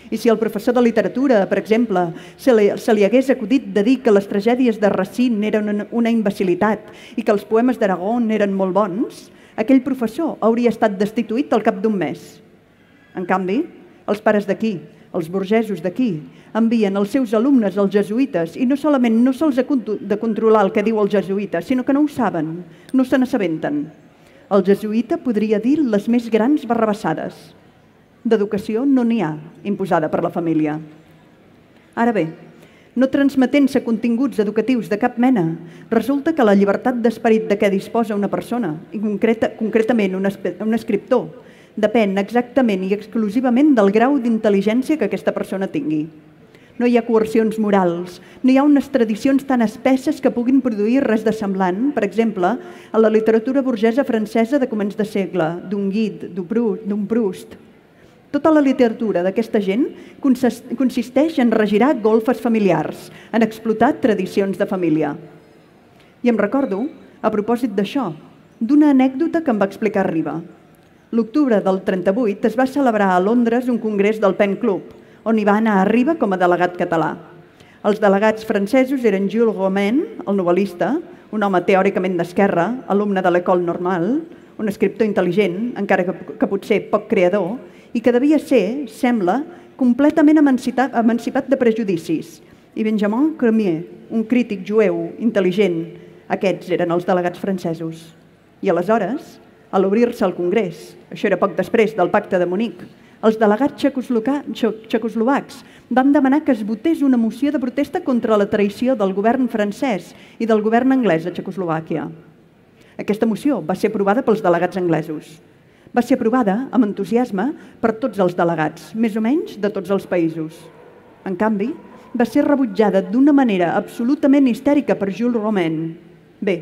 I si el professor de literatura, per exemple, se li, se li hagués acudit de dir que les tragèdies de Racine eren una, una imbecilitat i que els poemes d'Aragón eren molt bons, aquell professor hauria estat destituït al cap d'un mes. En canvi, els pares d'aquí, els burgesos d'aquí, envien els seus alumnes als jesuïtes i no solament no se'ls ha de controlar el que diu el jesuïta, sinó que no ho saben, no se n'assabenten. El jesuïta podria dir les més grans barrabassades. D'educació no n'hi ha, imposada per la família. Ara bé, no transmetent-se continguts educatius de cap mena, resulta que la llibertat d'esperit de què disposa una persona, i concreta, concretament un, un escriptor, depèn exactament i exclusivament del grau d'intel·ligència que aquesta persona tingui. No hi ha coercions morals, no hi ha unes tradicions tan espesses que puguin produir res de semblant, per exemple, a la literatura burgesa francesa de començ de segle, d'un Guide, d'un Proust. Tota la literatura d'aquesta gent consisteix en regirar golfes familiars, en explotar tradicions de família. I em recordo, a propòsit d'això, d'una anècdota que em va explicar Riba. L'octubre del trenta-vuit es va celebrar a Londres un congrés del Pen Club, on hi va anar a Riba com a delegat català. Els delegats francesos eren Jules Romain, el novel·lista, un home teòricament d'esquerra, alumne de l'École Normale, un escriptor intel·ligent, encara que, que potser poc creador, i que devia ser, sembla, completament emancipat, emancipat de prejudicis. I Benjamin Cremier, un crític jueu intel·ligent. Aquests eren els delegats francesos. I aleshores, a l'obrir-se el Congrés, això era poc després del Pacte de Munic, els delegats txecoslovacs van demanar que es votés una moció de protesta contra la traïció del govern francès i del govern anglès a Txecoslovàquia. Aquesta moció va ser aprovada pels delegats anglesos. Va ser aprovada amb entusiasme per tots els delegats, més o menys de tots els països. En canvi, va ser rebutjada d'una manera absolutament histèrica per Jules Romain. Bé,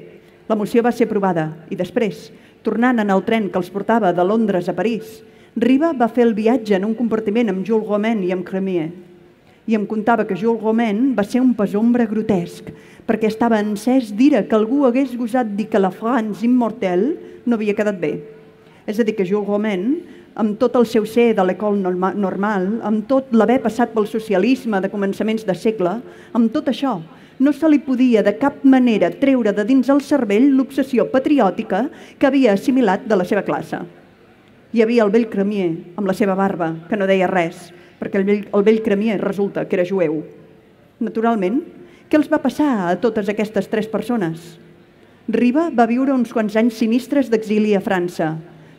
la moció va ser aprovada i després, tornant en el tren que els portava de Londres a París, Riba va fer el viatge en un compartiment amb Jules Romain i amb Cremier. I em contava que Jules Romain va ser un pesombre grotesc, perquè estava encès d'ira que algú hagués gosat dir que la France immortelle no havia quedat bé. És a dir, que Jules Romain, amb tot el seu ser de l'École Normale, amb tot l'haver passat pel socialisme de començaments de segle, amb tot això, no se li podia de cap manera treure de dins el cervell l'obsessió patriòtica que havia assimilat de la seva classe. Hi havia el vell Cremier, amb la seva barba, que no deia res, perquè el vell, el vell Cremier resulta que era jueu. Naturalment, què els va passar a totes aquestes tres persones? Riba va viure uns quants anys sinistres d'exili a França.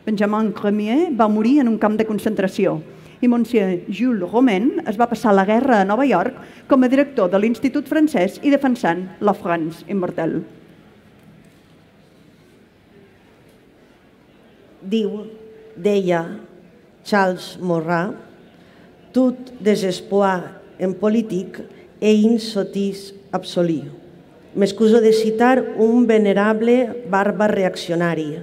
Benjamin Cremier va morir en un camp de concentració i Monsieur Jules Romain es va passar la guerra a Nova York com a director de l'Institut francès i defensant la France immortelle. Diu, deia Charles Maurras, tout désespoir en politique est une sottise absolue. M'excuso de citar un venerable bàrbar reaccionari,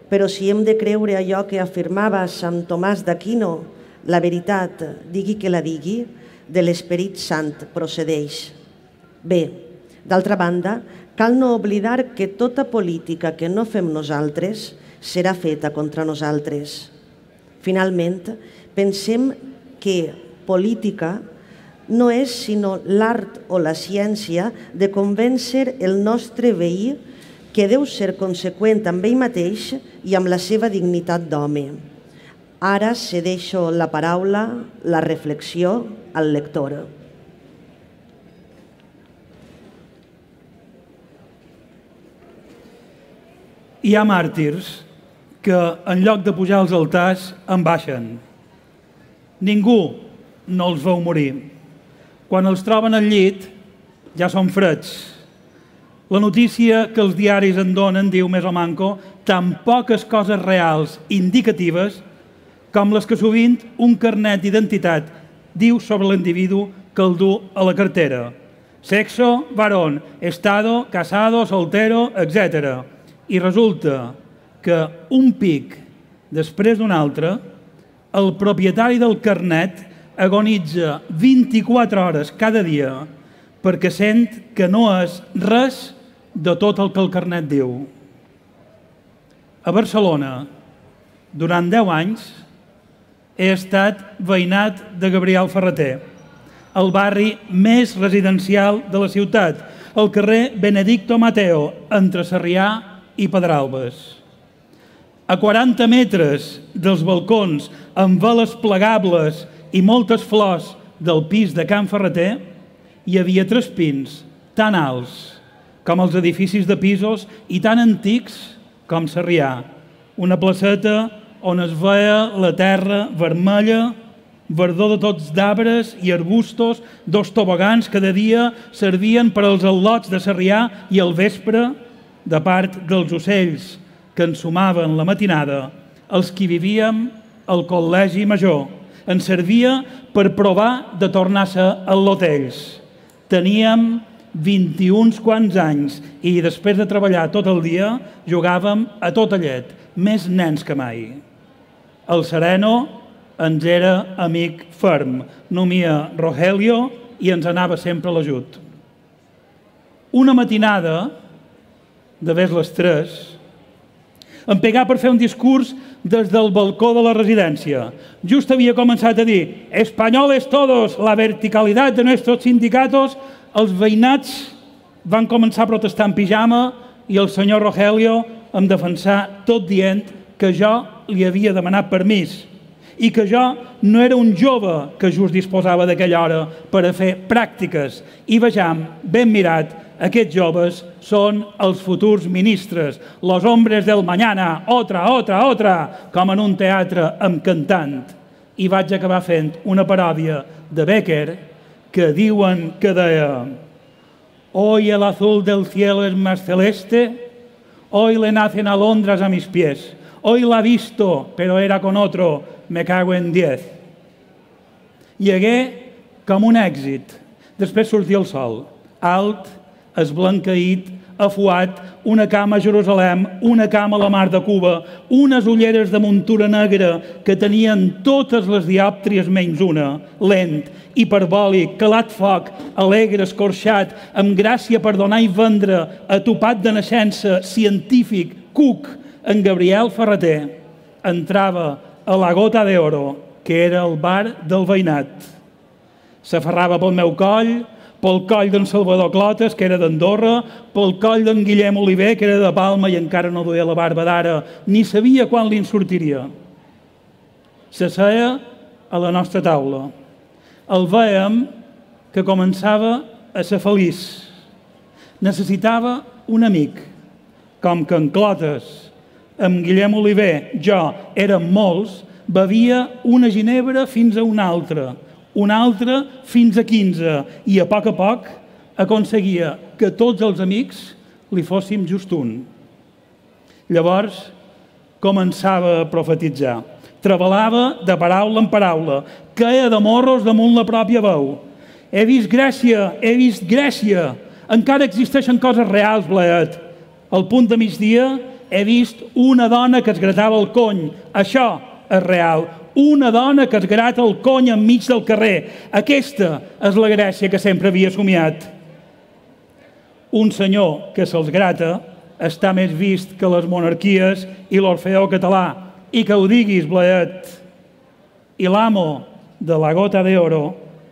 però si hem de creure allò que afirmava Sant Tomàs d'Aquino, la veritat, digui que la digui, de l'Esperit Sant procedeix. Bé, d'altra banda, cal no oblidar que tota política que no fem nosaltres serà feta contra nosaltres. Finalment, pensem que política no és sinó l'art o la ciència de convèncer el nostre veí que deu ser conseqüent amb ell mateix i amb la seva dignitat d'home. Ara cedeixo la paraula, la reflexió al lector. Hi ha màrtirs que en lloc de pujar als altars en baixen. Ningú no els veu morir. Quan els troben al llit ja són freds. La notícia que els diaris en donen, diu més o manco, tan poques coses reals indicatives com les que sovint un carnet d'identitat diu sobre l'individu que el du a la cartera. Sexo, varón, estado, casado, soltero, etcètera. I resulta que un pic després d'un altre, el propietari del carnet agonitza vint-i-quatre hores cada dia perquè sent que no és res de tot el que el carnet diu. A Barcelona, durant deu anys, he estat veïnat de Gabriel Ferrater, el barri més residencial de la ciutat, el carrer Benedicto Mateo, entre Sarrià i Pedralbes. A quaranta metres dels balcons amb veles plegables i moltes flors del pis de Can Ferrater, hi havia tres pins tan alts com els edificis de pisos i tan antics com Sarrià. Una placeta on es veia la terra vermella, verdor de tots d'arbres i arbustos, dos tobogans que de dia servien per als al·lots de Sarrià i al vespre, de part dels ocells que ensumaven la matinada, els qui vivíem al Col·legi Major. Ens servia per provar de tornar-se al·lotells. Teníem vint-i-un quants anys i després de treballar tot el dia jugàvem a tota llet, més nens que mai. El Sereno ens era amic ferm, nomia Rogelio i ens anava sempre a l'ajut. Una matinada, de ves les tres, em pegà per fer un discurs des del balcó de la residència. Just havia començat a dir «Españoles todos, la verticalidad de nuestros sindicatos». Els veïnats van començar a protestar en pijama i el senyor Rogelio em defensà tot dient que jo li havia demanat permís i que jo no era un jove que just disposava d'aquella hora per a fer pràctiques. I vejam, ben mirat, aquests joves són els futurs ministres, los hombres del mañana, otra, otra, otra, com en un teatre amb cantant. I vaig acabar fent una paròdia de Becker que diuen que deia «Hoy el azul del cielo es más celeste, hoy le nacen alondras a mis pies, hoy la he visto, pero era con otro, me cago en diez». I hagué com un èxit. Després sortia el sol, alt, esblanqueït, afuat, una cama a Jerusalem, una cama a la mar de Cuba, unes ulleres de muntura negra que tenien totes les diòptries menys una, lent, hiperbòlic, calat foc, alegre, escorxat, amb gràcia per donar i vendre, atopat de naixença, científic, cuc, en Gabriel Ferrater, entrava a la Gota de Oro, que era el bar del veïnat. S'aferrava pel meu coll, pel coll d'en Salvador Clotes, que era d'Andorra, pel coll d'en Guillem Oliver, que era de Palma i encara no duia la barba d'ara, ni sabia quan li en sortiria. S'asseia a la nostra taula. El vèiem que començava a ser feliç. Necessitava un amic, com que en Clotes, amb Guillem Oliver, jo, érem molts, bevia una ginebra fins a una altra, una altra fins a quinze, i a poc a poc aconseguia que tots els amics li fóssim just un. Llavors començava a profetitzar. Trebalava de paraula en paraula, queia de morros damunt la pròpia veu. He vist Grècia, he vist Grècia. Encara existeixen coses reals, Blaet. Al punt de migdia he vist una dona que es gratava el cony. Això és real. Una dona que es grata el cony enmig del carrer. Aquesta és la Grècia que sempre havia somiat. Un senyor que se'ls grata està més vist que les monarquies i l'Orfeó català. I que ho diguis, Blaet. I l'amo de la Gota de Oro,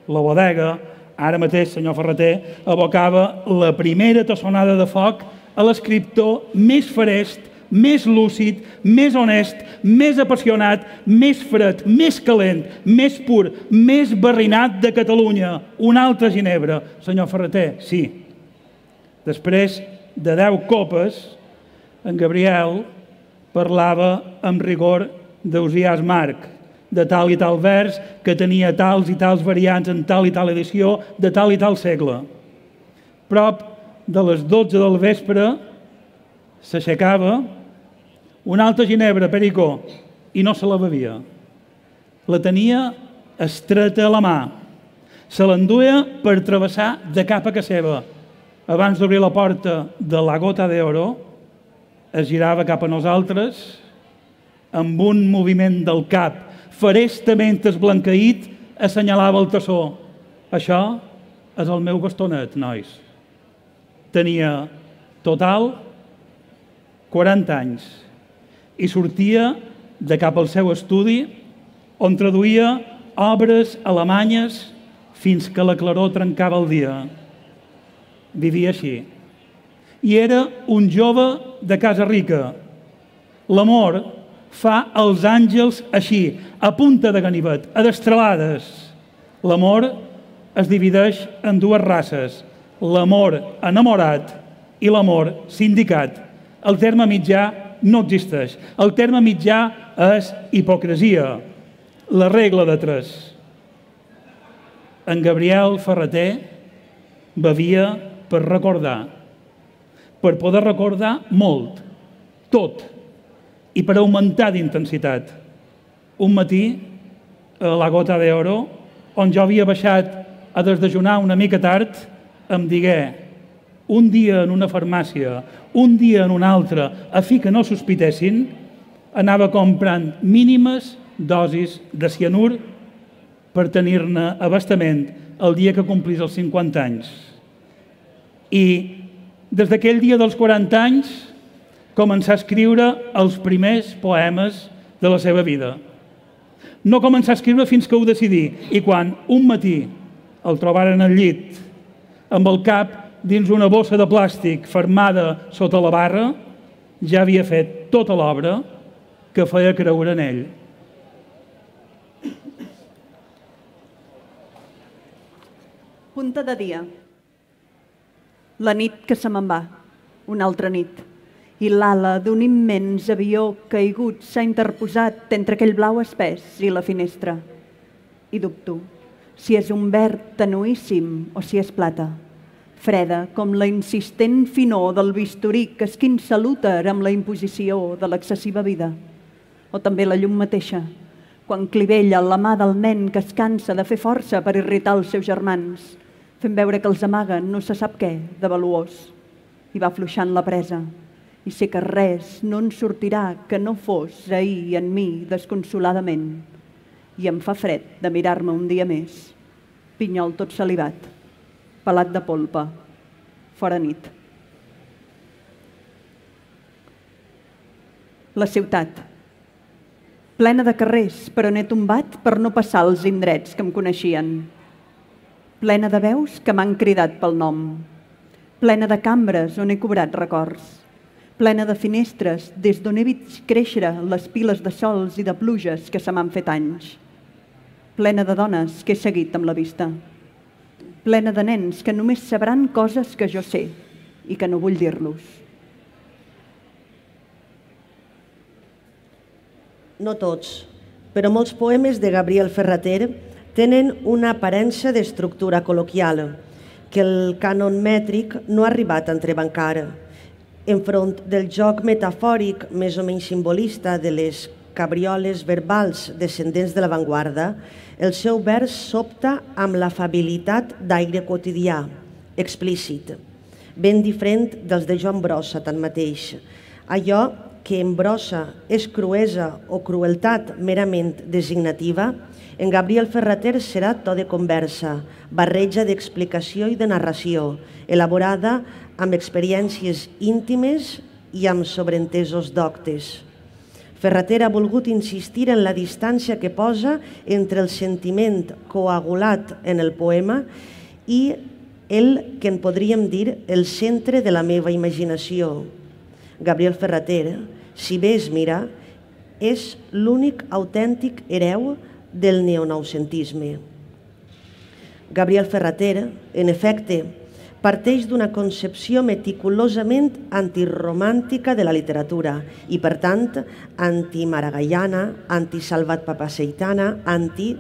la bodega, ara mateix, senyor Ferrater, abocava la primera tassonada de foc a l'escriptor més farest, més lúcid, més honest, més apassionat, més fred, més calent, més pur, més barrinat de Catalunya. Una altra ginebra. Senyor Ferrater, sí. Després de deu copes, en Gabriel parlava amb rigor d'Ausiàs Marc, de tal i tal vers, que tenia tals i tals variants en tal i tal edició, de tal i tal segle. Prop de les dotze del vespre s'aixecava una altra ginebra, Perico, i no se la bevia. La tenia estreta a la mà. Se l'enduia per travessar de cap a casa seva. Abans d'obrir la porta de la Gota de Oro, es girava cap a nosaltres amb un moviment del cap, ferestament esblanqueït, assenyalava el tassó. Això és el meu bastonet, nois. Tenia total quaranta anys i sortia de cap al seu estudi on traduïa obres alemanyes fins que la claror trencava el dia. Vivia així. I era un jove de casa rica. L'amor fa els àngels així, a punta de ganivet, a destralades. L'amor es divideix en dues races, l'amor enamorat i l'amor sindicat. El terme mitjà no existeix. El terme mitjà és hipocresia, la regla de tres. En Gabriel Ferrater bevia per recordar, per poder recordar molt, tot, i per augmentar d'intensitat. Un matí, a la Gota d'Oro, on jo havia baixat a desdejunar una mica tard, em digué, un dia en una farmàcia, un dia en una altra, a fi que no sospitessin, anava comprant mínimes dosis de cianur per tenir-ne abastament el dia que complís els cinquanta anys. I des d'aquell dia dels quaranta anys començà a escriure els primers poemes de la seva vida. No començà a escriure fins que ho decidí, i quan un matí el trobaren al llit, amb el cap dins una bossa de plàstic fermada sota la barra, ja havia fet tota l'obra que feia creure en ell. Punta de dia. La nit que se me'n va, una altra nit, i l'ala d'un immens avió caigut s'ha interposat entre aquell blau espès i la finestra. I dubto si és un verd tenuíssim o si és plata, freda com la insistent finor del bisturí que esquinça l'úter amb la imposició de l'excessiva vida, o també la llum mateixa, quan clivella la mà del nen que es cansa de fer força per irritar els seus germans, fent veure que els amaguen no se sap què de valuós, i va afluixant la presa, i sé que res no en sortirà que no fos ahir en mi desconsoladament, i em fa fred de mirar-me un dia més, pinyol tot salivat, pelat de polpa, fora nit. La ciutat, plena de carrers, però n'he tombat per no passar als indrets que em coneixien, plena de veus que m'han cridat pel nom, plena de cambres on he cobrat records, plena de finestres des d'on he vist créixer les piles de sols i de pluges que se m'han fet anys, plena de dones que he seguit amb la vista, plena de nens que només sabran coses que jo sé i que no vull dir-los. No tots, però molts poemes de Gabriel Ferrater tenen una aparença d'estructura col·loquial que el cànon mètric no ha arribat a entrebancar. Enfront del joc metafòric més o menys simbolista de les cabrioles verbals descendents de l'avantguarda, el seu vers s'opta amb l'afabilitat d'aire quotidià, explícit, ben diferent dels de Joan Brossa, tanmateix. Allò que en Brossa és cruesa o crueltat merament designativa, en Gabriel Ferrater serà to de conversa, barreja d'explicació i de narració, elaborada amb experiències íntimes i amb sobreentesos doctes. Ferrater ha volgut insistir en la distància que posa entre el sentiment coagulat en el poema i el que en podríem dir el centre de la meva imaginació. Gabriel Ferrater, si bé es mira, és l'únic autèntic hereu del neonoucentisme. Gabriel Ferrater, en efecte, parteix d'una concepció meticulosament antiromàntica de la literatura i, per tant, antimaragallana, antisalvatpapaseitana, anti...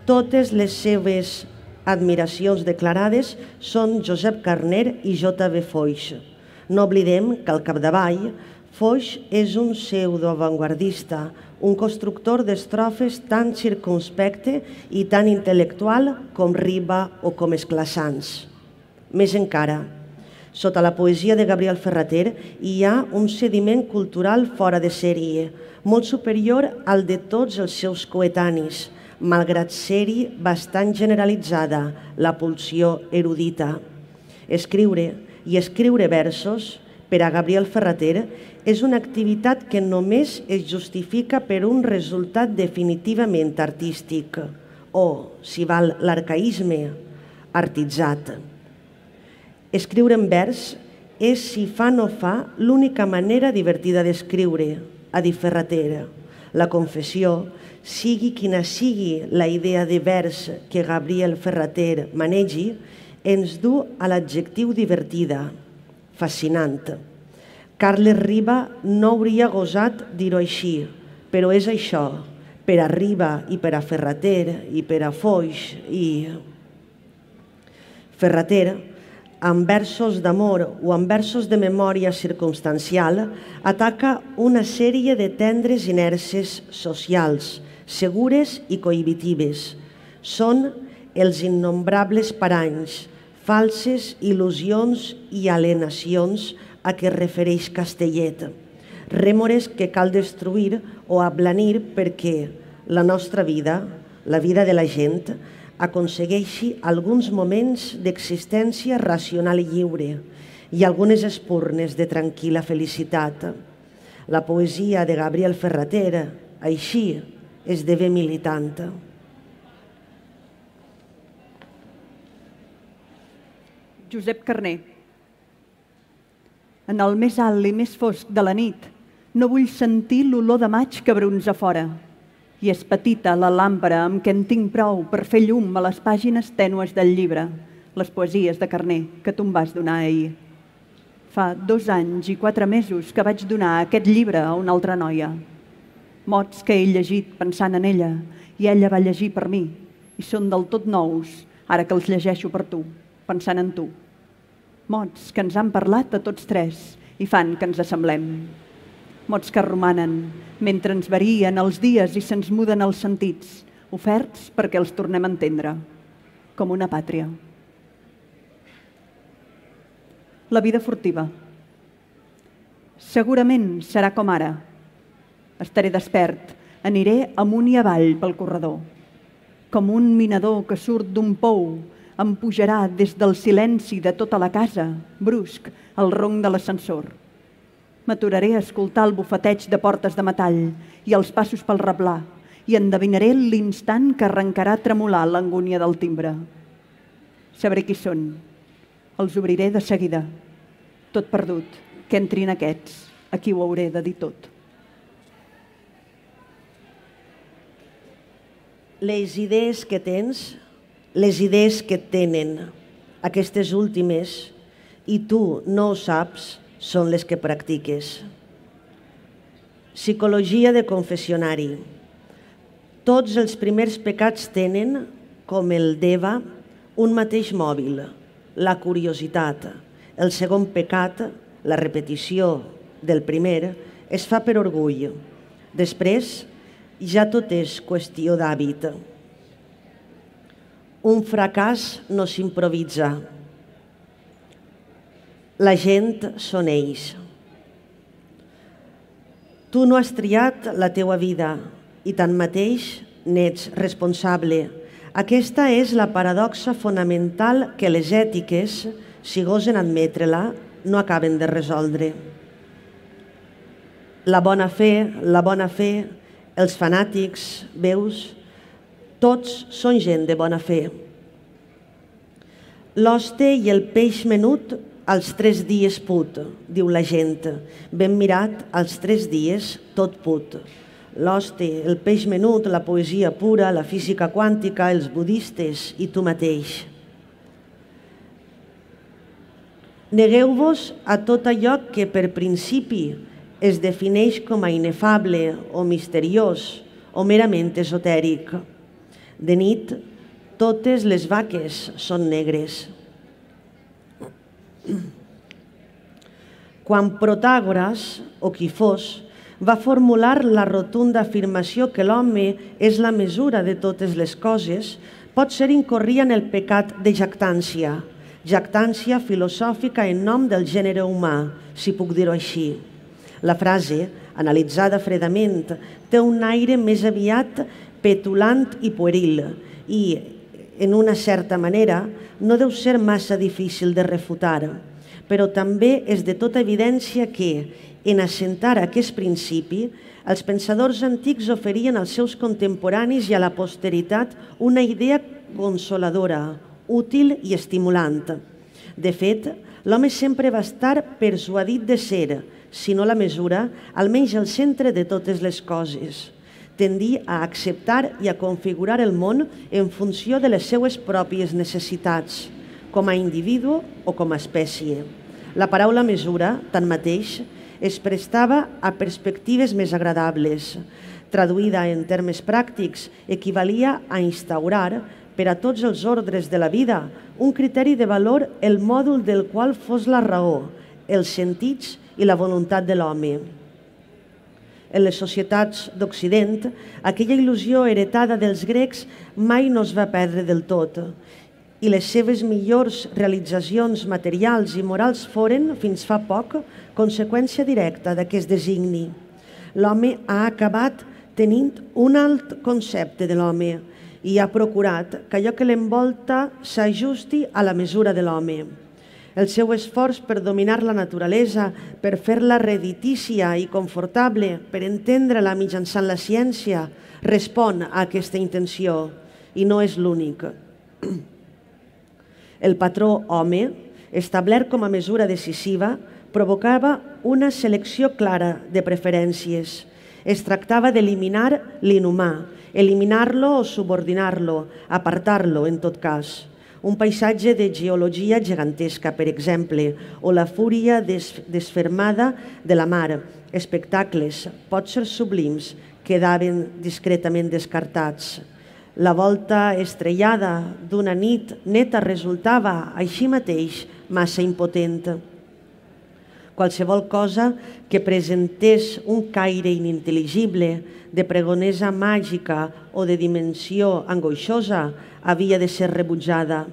Totes les seves admiracions declarades són Josep Carner i J V Foix. No oblidem que al capdavall Foix és un pseudoavantguardista, un constructor d'estrofes tan circumspecte i tan intel·lectual com Riba o com Esclassans. Més encara, sota la poesia de Gabriel Ferrater hi ha un sediment cultural fora de sèrie, molt superior al de tots els seus coetanis, malgrat ser-hi bastant generalitzada la pulsió erudita. Escriure i escriure versos, per a Gabriel Ferrater, és una activitat que només es justifica per un resultat definitivament artístic o, si val l'arcaïsme, artitzat. Escriure en vers és, si fa no fa, l'única manera divertida d'escriure, ha dit Ferrater. La confessió, sigui quina sigui la idea de vers que Gabriel Ferrater manegi, ens du a l'adjectiu divertida, fascinant. Carles Riba no hauria gosat dir-ho així, però és això, per a Riba i per a Ferrater i per a Foix i... Ferrater, amb versos d'amor o amb versos de memòria circumstancial, ataca una sèrie de tendres inèrcies socials, segures i cohibitives. Són els innombrables paranys, falses il·lusions i alienacions a què es refereix Castellet, rèmores que cal destruir o ablanir perquè la nostra vida, la vida de la gent, aconsegueixi alguns moments d'existència racional i lliure i algunes espurnes de tranquil·la felicitat. La poesia de Gabriel Ferrater, així, esdevé militant. Josep Carner. En el més alt i més fosc de la nit, no vull sentir l'olor de maig que brunza fora. I és petita la làmpara amb què en tinc prou per fer llum a les pàgines tènues del llibre, les poesies de Carner que tu em vas donar ahir. Fa dos anys i quatre mesos que vaig donar aquest llibre a una altra noia. Mots que he llegit pensant en ella i ella va llegir per mi i són del tot nous ara que els llegeixo per tu, pensant en tu. Mots que ens han parlat a tots tres i fan que ens assemblem. Mots que romanen mentre ens varien els dies i se'ns muden els sentits, oferts perquè els tornem a entendre, com una pàtria. La vida furtiva. Segurament serà com ara. Estaré despert, aniré amunt i avall pel corredor. Com un minador que surt d'un pou, em pujarà des del silenci de tota la casa, brusc, el ronc de l'ascensor. M'aturaré a escoltar el bufeteig de portes de metall i els passos pel replà i endevinaré l'instant que arrencarà a tremolar l'angúnia del timbre. Sabré qui són. Els obriré de seguida. Tot perdut, que entrin aquests, a qui ho hauré de dir tot. Les idees que tens, les idees que et tenen, aquestes últimes, i tu no ho saps, són les que practiques. Psicologia de confessionari. Tots els primers pecats tenen, com el d'Eva, un mateix mòbil, la curiositat. El segon pecat, la repetició del primer, es fa per orgull. Després, ja tot és qüestió d'hàbit. Un fracàs no s'improvisa. La gent són ells. Tu no has triat la teua vida i tanmateix n'ets responsable. Aquesta és la paradoxa fonamental que les ètiques, si gosen admetre-la, no acaben de resoldre. La bona fe, la bona fe, els fanàtics, veus, tots són gent de bona fe. L'hoste i el peix menut als tres dies put, diu la gent. Ben mirat, als tres dies tot put. L'hoste, el peix menut, la poesia pura, la física quàntica, els budistes i tu mateix. Negueu-vos a tot allò que per principi es defineix com a inefable o misteriós o merament esotèric. De nit, totes les vaques són negres. Quan Protàgores, o qui fos, va formular la rotunda afirmació que l'home és la mesura de totes les coses, potser incorria en el pecat de jactància, jactància filosòfica en nom del gènere humà, si puc dir-ho així. La frase analitzada fredament, té un aire més aviat petulant i pueril i, en una certa manera, no deu ser massa difícil de refutar, però també és de tota evidència que, en assentar aquest principi, els pensadors antics oferien als seus contemporanis i a la posteritat una idea consoladora, útil i estimulant. De fet, l'home sempre va estar persuadit de ser, si no la mesura, almenys el centre de totes les coses. Tendir a acceptar i a configurar el món en funció de les seues pròpies necessitats, com a individu o com a espècie. La paraula mesura, tanmateix, es prestava a perspectives més agradables. Traduïda en termes pràctics, equivalia a instaurar, per a tots els ordres de la vida, un criteri de valor el mòdul del qual fos la raó, els sentits i la voluntat de l'home. En les societats d'Occident, aquella il·lusió heretada dels grecs mai no es va perdre del tot, i les seves millors realitzacions materials i morals foren, fins fa poc, conseqüència directa d'aquest designi. L'home ha acabat tenint un alt concepte de l'home i ha procurat que allò que l'envolta s'ajusti a la mesura de l'home. El seu esforç per dominar la naturalesa, per fer-la reditícia i confortable, per entendre-la mitjançant la ciència, respon a aquesta intenció i no és l'únic. El patró home, establert com a mesura decisiva, provocava una selecció clara de preferències. Es tractava d'eliminar l'inhumà, eliminar-lo o subordinar-lo, apartar-lo en tot cas. Un paisatge de geologia gegantesca, per exemple, o la fúria desfermada de la mar, espectacles, potser sublims, quedaven discretament descartats. La volta estrellada d'una nit neta resultava, així mateix, massa impotent. Qualsevol cosa que presentés un caire inintel·ligible, de pregonesa màgica o de dimensió angoixosa, havia de ser rebutjada.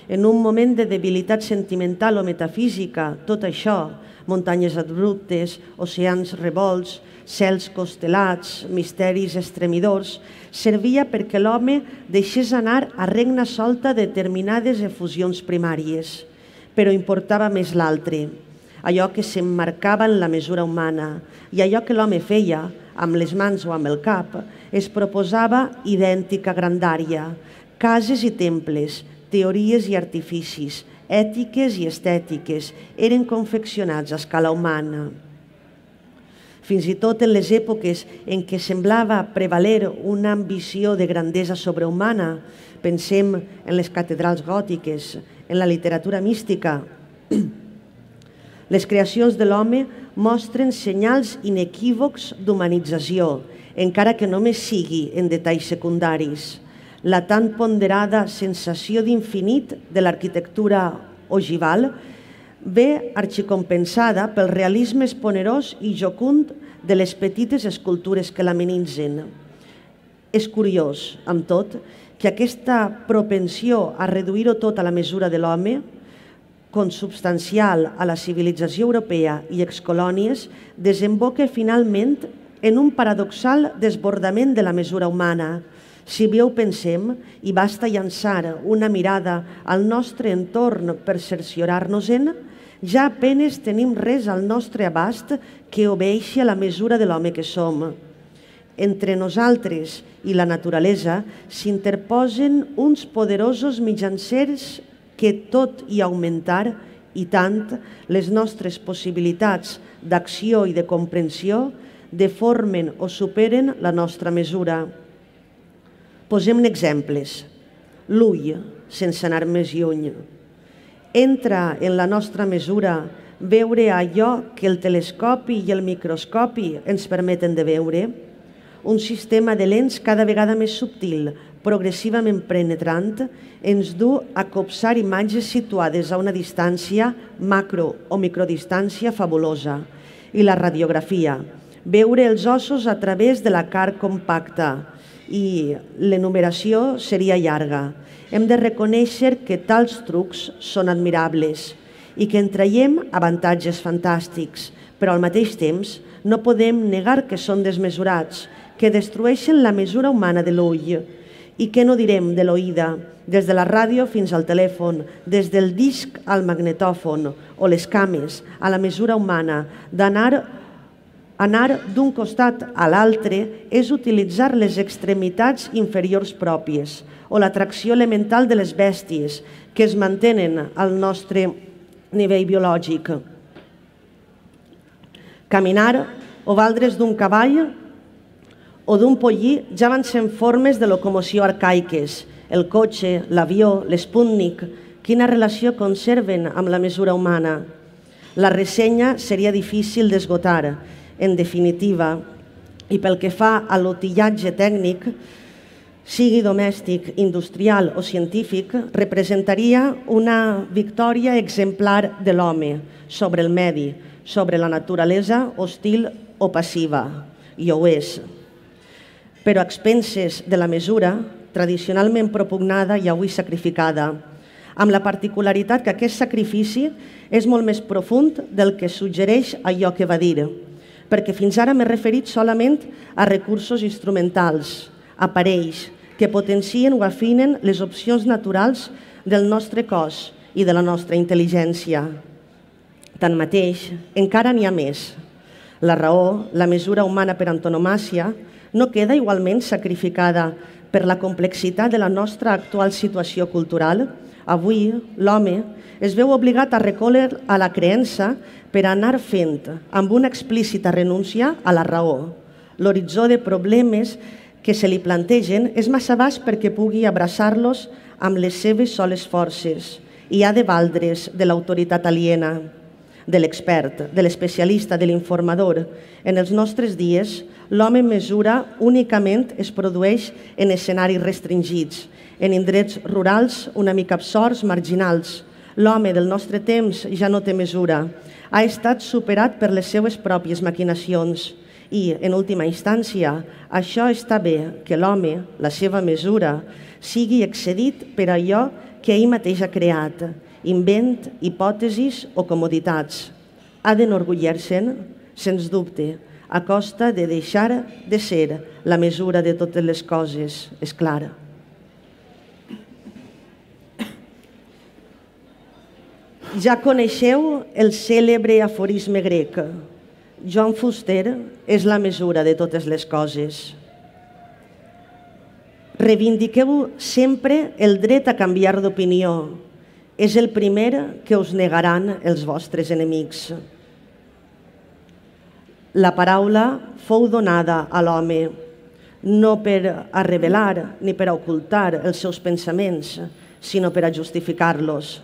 En un moment de debilitat sentimental o metafísica, tot això, muntanyes abruptes, oceans revolts, cels constel·lats, misteris estremidors, servia perquè l'home deixés anar a regna solta determinades efusions primàries. Però importava més l'altre, allò que s'emmarcava en la mesura humana, i allò que l'home feia, amb les mans o amb el cap, es proposava idèntica grandària. Cases i temples, teories i artificis, ètiques i estètiques, eren confeccionats a escala humana. Fins i tot en les èpoques en què semblava prevaler una ambició de grandesa sobrehumana, pensem en les catedrals gòtiques, en la literatura mística, les creacions de l'home mostren senyals inequívocs d'humanització, encara que només sigui en detalls secundaris. La tan ponderada sensació d'infinit de l'arquitectura ogival ve arxicompensada pel realisme esponerós i jocund de les petites escultures que l'amenitzen. És curiós, amb tot, que aquesta propensió a reduir-ho tot a la mesura de l'home, consubstancial a la civilització europea i excolònies, desemboca finalment en un paradoxal desbordament de la mesura humana. Si bé ho pensem, i basta llançar una mirada al nostre entorn per cerciorar-nos-en, ja apenes tenim res al nostre abast que obeeixi a la mesura de l'home que som. Entre nosaltres i la naturalesa s'interposen uns poderosos mitjancers que, tot i augmentar, i tant, les nostres possibilitats d'acció i de comprensió, deformen o superen la nostra mesura. Posem exemples. L'ull, sense anar més lluny. Entra en la nostra mesura veure allò que el telescopi i el microscopi ens permeten de veure? Un sistema de lents cada vegada més subtil, progressivament penetrant, ens du a copsar imatges situades a una distància macro o microdistància fabulosa. I la radiografia, veure els ossos a través de la carn compacta, i l'enumeració seria llarga. Hem de reconèixer que tals trucs són admirables i que en traiem avantatges fantàstics, però al mateix temps No podem negar que són desmesurats, que destrueixen la mesura humana de l'ull. I què no direm de l'oïda, des de la ràdio fins al telèfon, des del disc al magnetòfon o les cames, a la mesura humana, d'anar anar d'un costat a l'altre és utilitzar les extremitats inferiors pròpies o l'atracció elemental de les bèsties que es mantenen al nostre nivell biològic. Caminar o valdre's d'un cavall o d'un pollí ja van ser formes de locomoció arcaiques. El cotxe, l'avió, l'Sputnik, quina relació conserven amb la mesura humana? La ressenya seria difícil d'esgotar. En definitiva, i pel que fa a l'utillatge tècnic, sigui domèstic, industrial o científic, representaria una victòria exemplar de l'home sobre el medi, sobre la naturalesa hostil o passiva, i ho és. Però a expenses de la mesura, tradicionalment propugnada i avui sacrificada, amb la particularitat que aquest sacrifici és molt més profund del que suggereix allò que va dir, perquè fins ara m'he referit solament a recursos instrumentals, aparells, que potencien o afinen les opcions naturals del nostre cos i de la nostra intel·ligència. Tanmateix, encara n'hi ha més. La raó, la mesura humana per antonomàsia, no queda igualment sacrificada per la complexitat de la nostra actual situació cultural. Avui, l'home es veu obligat a recórrer a la creença per anar fent amb una explícita renúncia a la raó. L'horitzó de problemes que se li plantegen és massa baix perquè pugui abraçar-los amb les seves soles forces i ha de valdre's de l'autoritat aliena, de l'expert, de l'especialista, de l'informador. En els nostres dies, l'home mesura únicament es produeix en escenaris restringits, en indrets rurals una mica absorts, marginals. L'home del nostre temps ja no té mesura. Ha estat superat per les seues pròpies maquinacions i, en última instància, això està bé que l'home, la seva mesura, sigui excedit per allò que ell mateix ha creat, invent, hipòtesis o comoditats. Ha d'enorgullir-se'n, sens dubte, a costa de deixar de ser la mesura de totes les coses, és clar. Ja coneixeu el cèlebre aforisme grec. John Fuster és la mesura de totes les coses. Reivindiqueu sempre el dret a canviar d'opinió. És el primer que us negaran els vostres enemics. La paraula fou donada a l'home, no per a revelar ni per a ocultar els seus pensaments, sinó per a justificar-los.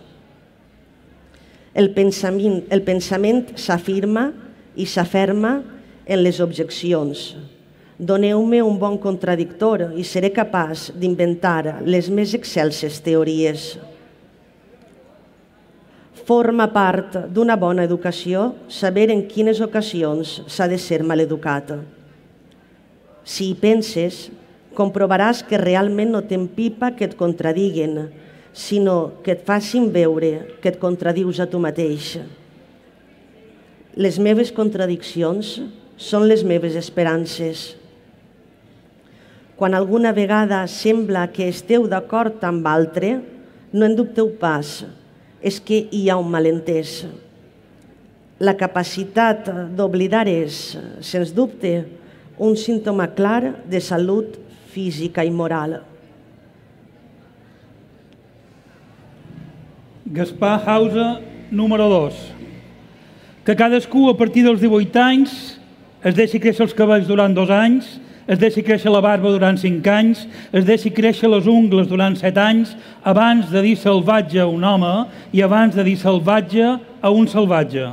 El pensament, el pensament s'afirma i s'aferma en les objeccions. Doneu-me un bon contradictor i seré capaç d'inventar les més excelses teories. Forma part d'una bona educació saber en quines ocasions s'ha de ser maleducat. Si hi penses, comprovaràs que realment no t'empipa que et contradiguen, sinó que et facin veure que et contradius a tu mateix. Les meves contradiccions són les meves esperances. Quan alguna vegada sembla que esteu d'acord amb altre, no en dubteu pas, és que hi ha un malentès. La capacitat d'oblidar és, sens dubte, un símptoma clar de salut física i moral. Gaspar Hausa, número dos. Que cadascú a partir dels divuit anys es deixi créixer els cabells durant dos anys, es deixi créixer la barba durant cinc anys, es deixi créixer les ungles durant set anys, abans de dir salvatge a un home i abans de dir salvatge a un salvatge.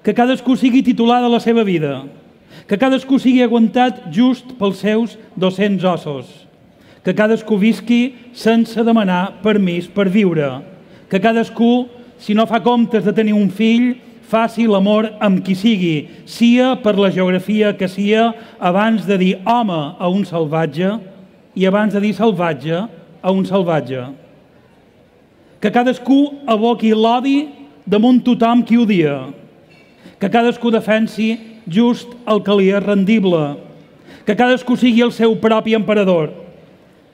Que cadascú sigui titular de la seva vida, que cadascú sigui aguantat just pels seus dos-cents ossos, que cadascú visqui sense demanar permís per viure, que cadascú, si no fa comptes de tenir un fill, faci l'amor amb qui sigui, sia per la geografia que sia, abans de dir home a un salvatge i abans de dir salvatge a un salvatge. Que cadascú aboqui l'odi damunt tothom qui odia. que cadascú defensi just el que li és rendible, que cadascú sigui el seu propi emperador,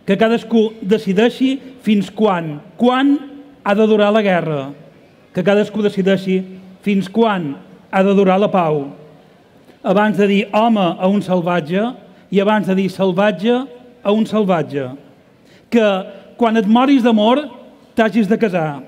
que cadascú decideixi fins quan, quan ha de durar la guerra, que cadascú decideixi fins quan ha de durar la pau. Abans de dir home a un salvatge i abans de dir salvatge a un salvatge. Que quan et moris d'amor t'hagis de casar,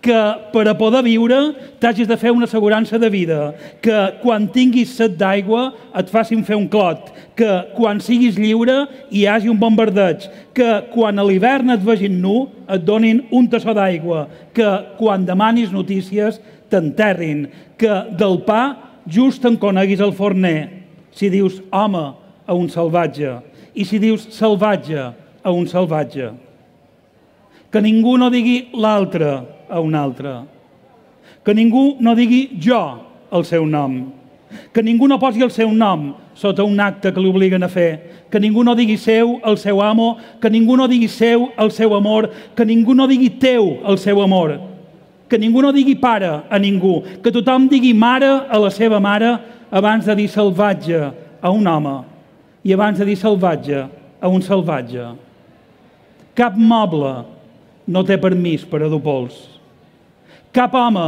que per a poder viure t'hagis de fer una assegurança de vida, que quan tinguis set d'aigua et facin fer un clot, que quan siguis lliure hi hagi un bombardeig, que quan a l'hivern et vegin nu et donin un tassó d'aigua, que quan demanis notícies t'enterrin, que del pa just en coneguis el forner, si dius home a un salvatge i si dius salvatge a un salvatge. Que ningú no digui l'altre a un altre. Que ningú no digui jo el seu nom. Que ningú no posi el seu nom sota un acte que l'obliguen a fer. Que ningú no digui seu el seu amo. Que ningú no digui seu el seu amor. Que ningú no digui teu el seu amor. Que ningú no digui pare a ningú. Que tothom digui mare a la seva mare abans de dir salvatge a un home i abans de dir salvatge a un salvatge. Cap moble no té permís per a dur pols. Cap home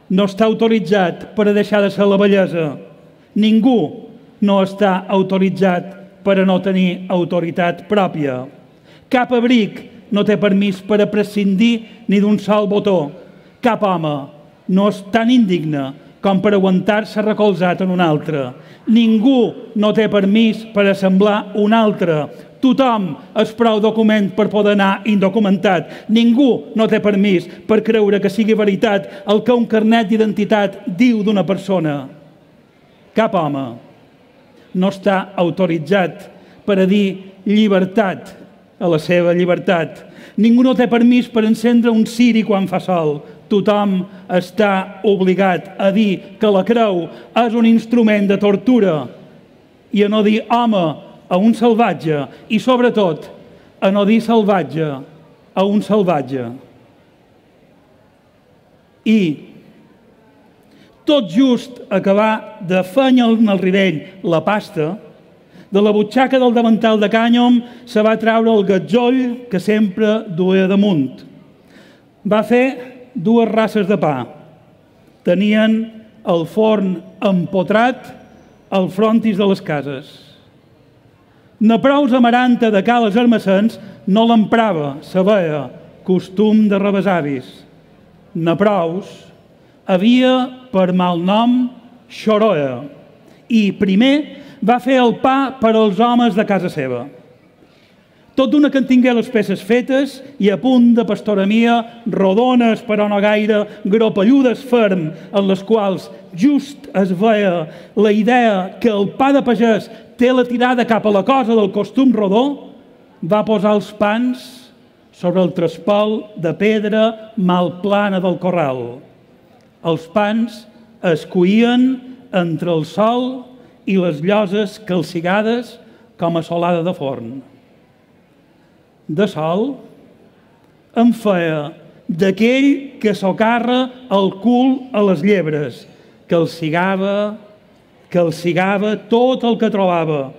no està autoritzat per a deixar de ser la bellesa. Ningú no està autoritzat per a no tenir autoritat pròpia. Cap abric no té permís per a prescindir ni d'un sol botó. Cap home no és tan indigne com per aguantar-se recolzat en un altre. Ningú no té permís per a semblar un altre. Tothom és prou document per poder anar indocumentat. Ningú no té permís per creure que sigui veritat el que un carnet d'identitat diu d'una persona. Cap home no està autoritzat per a dir llibertat a la seva llibertat. Ningú no té permís per encendre un ciri quan fa sol. Tothom està obligat a dir que la creu és un instrument de tortura i a no dir home a un salvatge i, sobretot, a no dir salvatge a un salvatge. I tot just acabar de fenyer en el rivell la pasta, de la butxaca del davantal de cànyom se va treure el gatzoll que sempre duia damunt. Va fer dues races de pa. Tenien el forn empotrat al frontis de les cases. Na prous amaranta de cales armacens no l'emprava, se veia, costum de rebesavis. Na prous havia per mal nom xoroa i primer va fer el pa per als homes de casa seva. Tot d'una que en tingué les peces fetes i a punt de pastoramia, rodones però no gaire, gropelludes ferm, en les quals just es veia la idea que el pa de pagès té la tirada cap a la cosa del costum rodó, va posar els pans sobre el trespol de pedra mal plana del corral. Els pans es cuïen entre el sol i les lloses calcigades com a solada de forn. De sol em feia d'aquell que socarra el cul a les llebres, que el cigava, que el cigava tot el que trobava.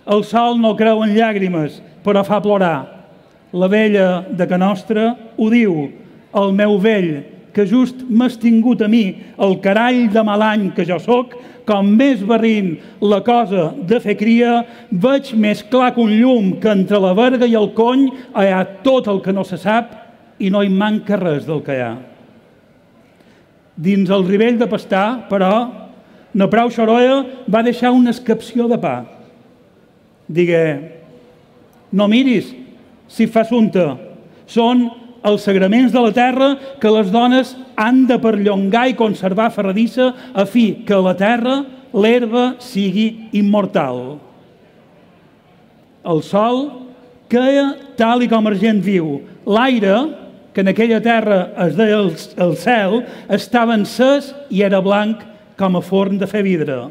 El sol no creu en llàgrimes, però fa plorar. La vella de ca nostra ho diu, el meu vell, que just m'has tingut a mi, el carall de mal any que jo soc, com més barrint la cosa de fer cria, veig més clar que un llum que entre la verga i el cony hi ha tot el que no se sap i no hi manca res del que hi ha. Dins el rivell de pastar, però, na prou xoroia va deixar una escapció de pa. Digué, no miris si fa assumpte, són els sagraments de la terra que les dones han de perllongar i conservar ferradissa a fi que a la terra l'herba sigui immortal. El sol queia tal i com argent viu. L'aire, que en aquella terra es deia el cel, estava encès i era blanc com a forn de fer vidre.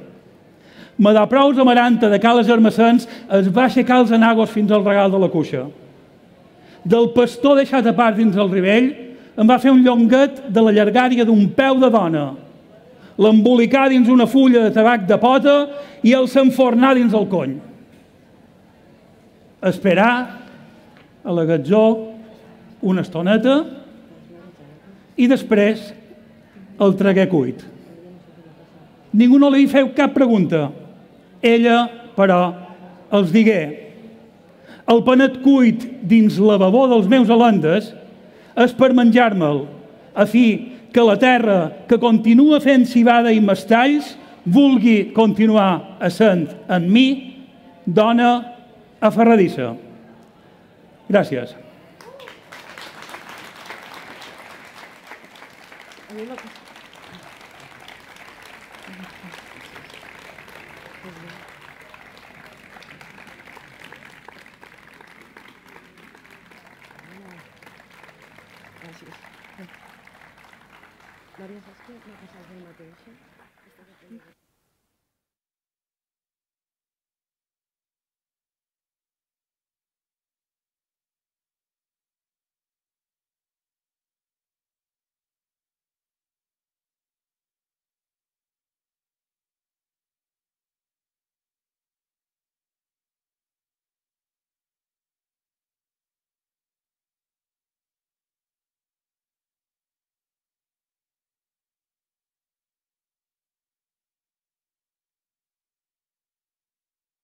Me da prous amaranta de cales armacens es va aixecar els enagos fins al regal de la cuixa. Del pastor deixat a part dins el rivell, em va fer un llonguet de la llargària d'un peu de dona. l'embolicar dins una fulla de tabac de pota i el s'enfornar dins el cony. Esperar a la gatzó una estoneta i després el traguer cuit. Ningú no li feu cap pregunta. Ella, però, els digué: el panet cuit dins la babó dels meus alendes és per menjar-me'l, a fi que la terra que continua fent civada i mestalls vulgui continuar essent en mi dona aferradissa. Gràcies. Maria, saps què m'ha passat el mateix?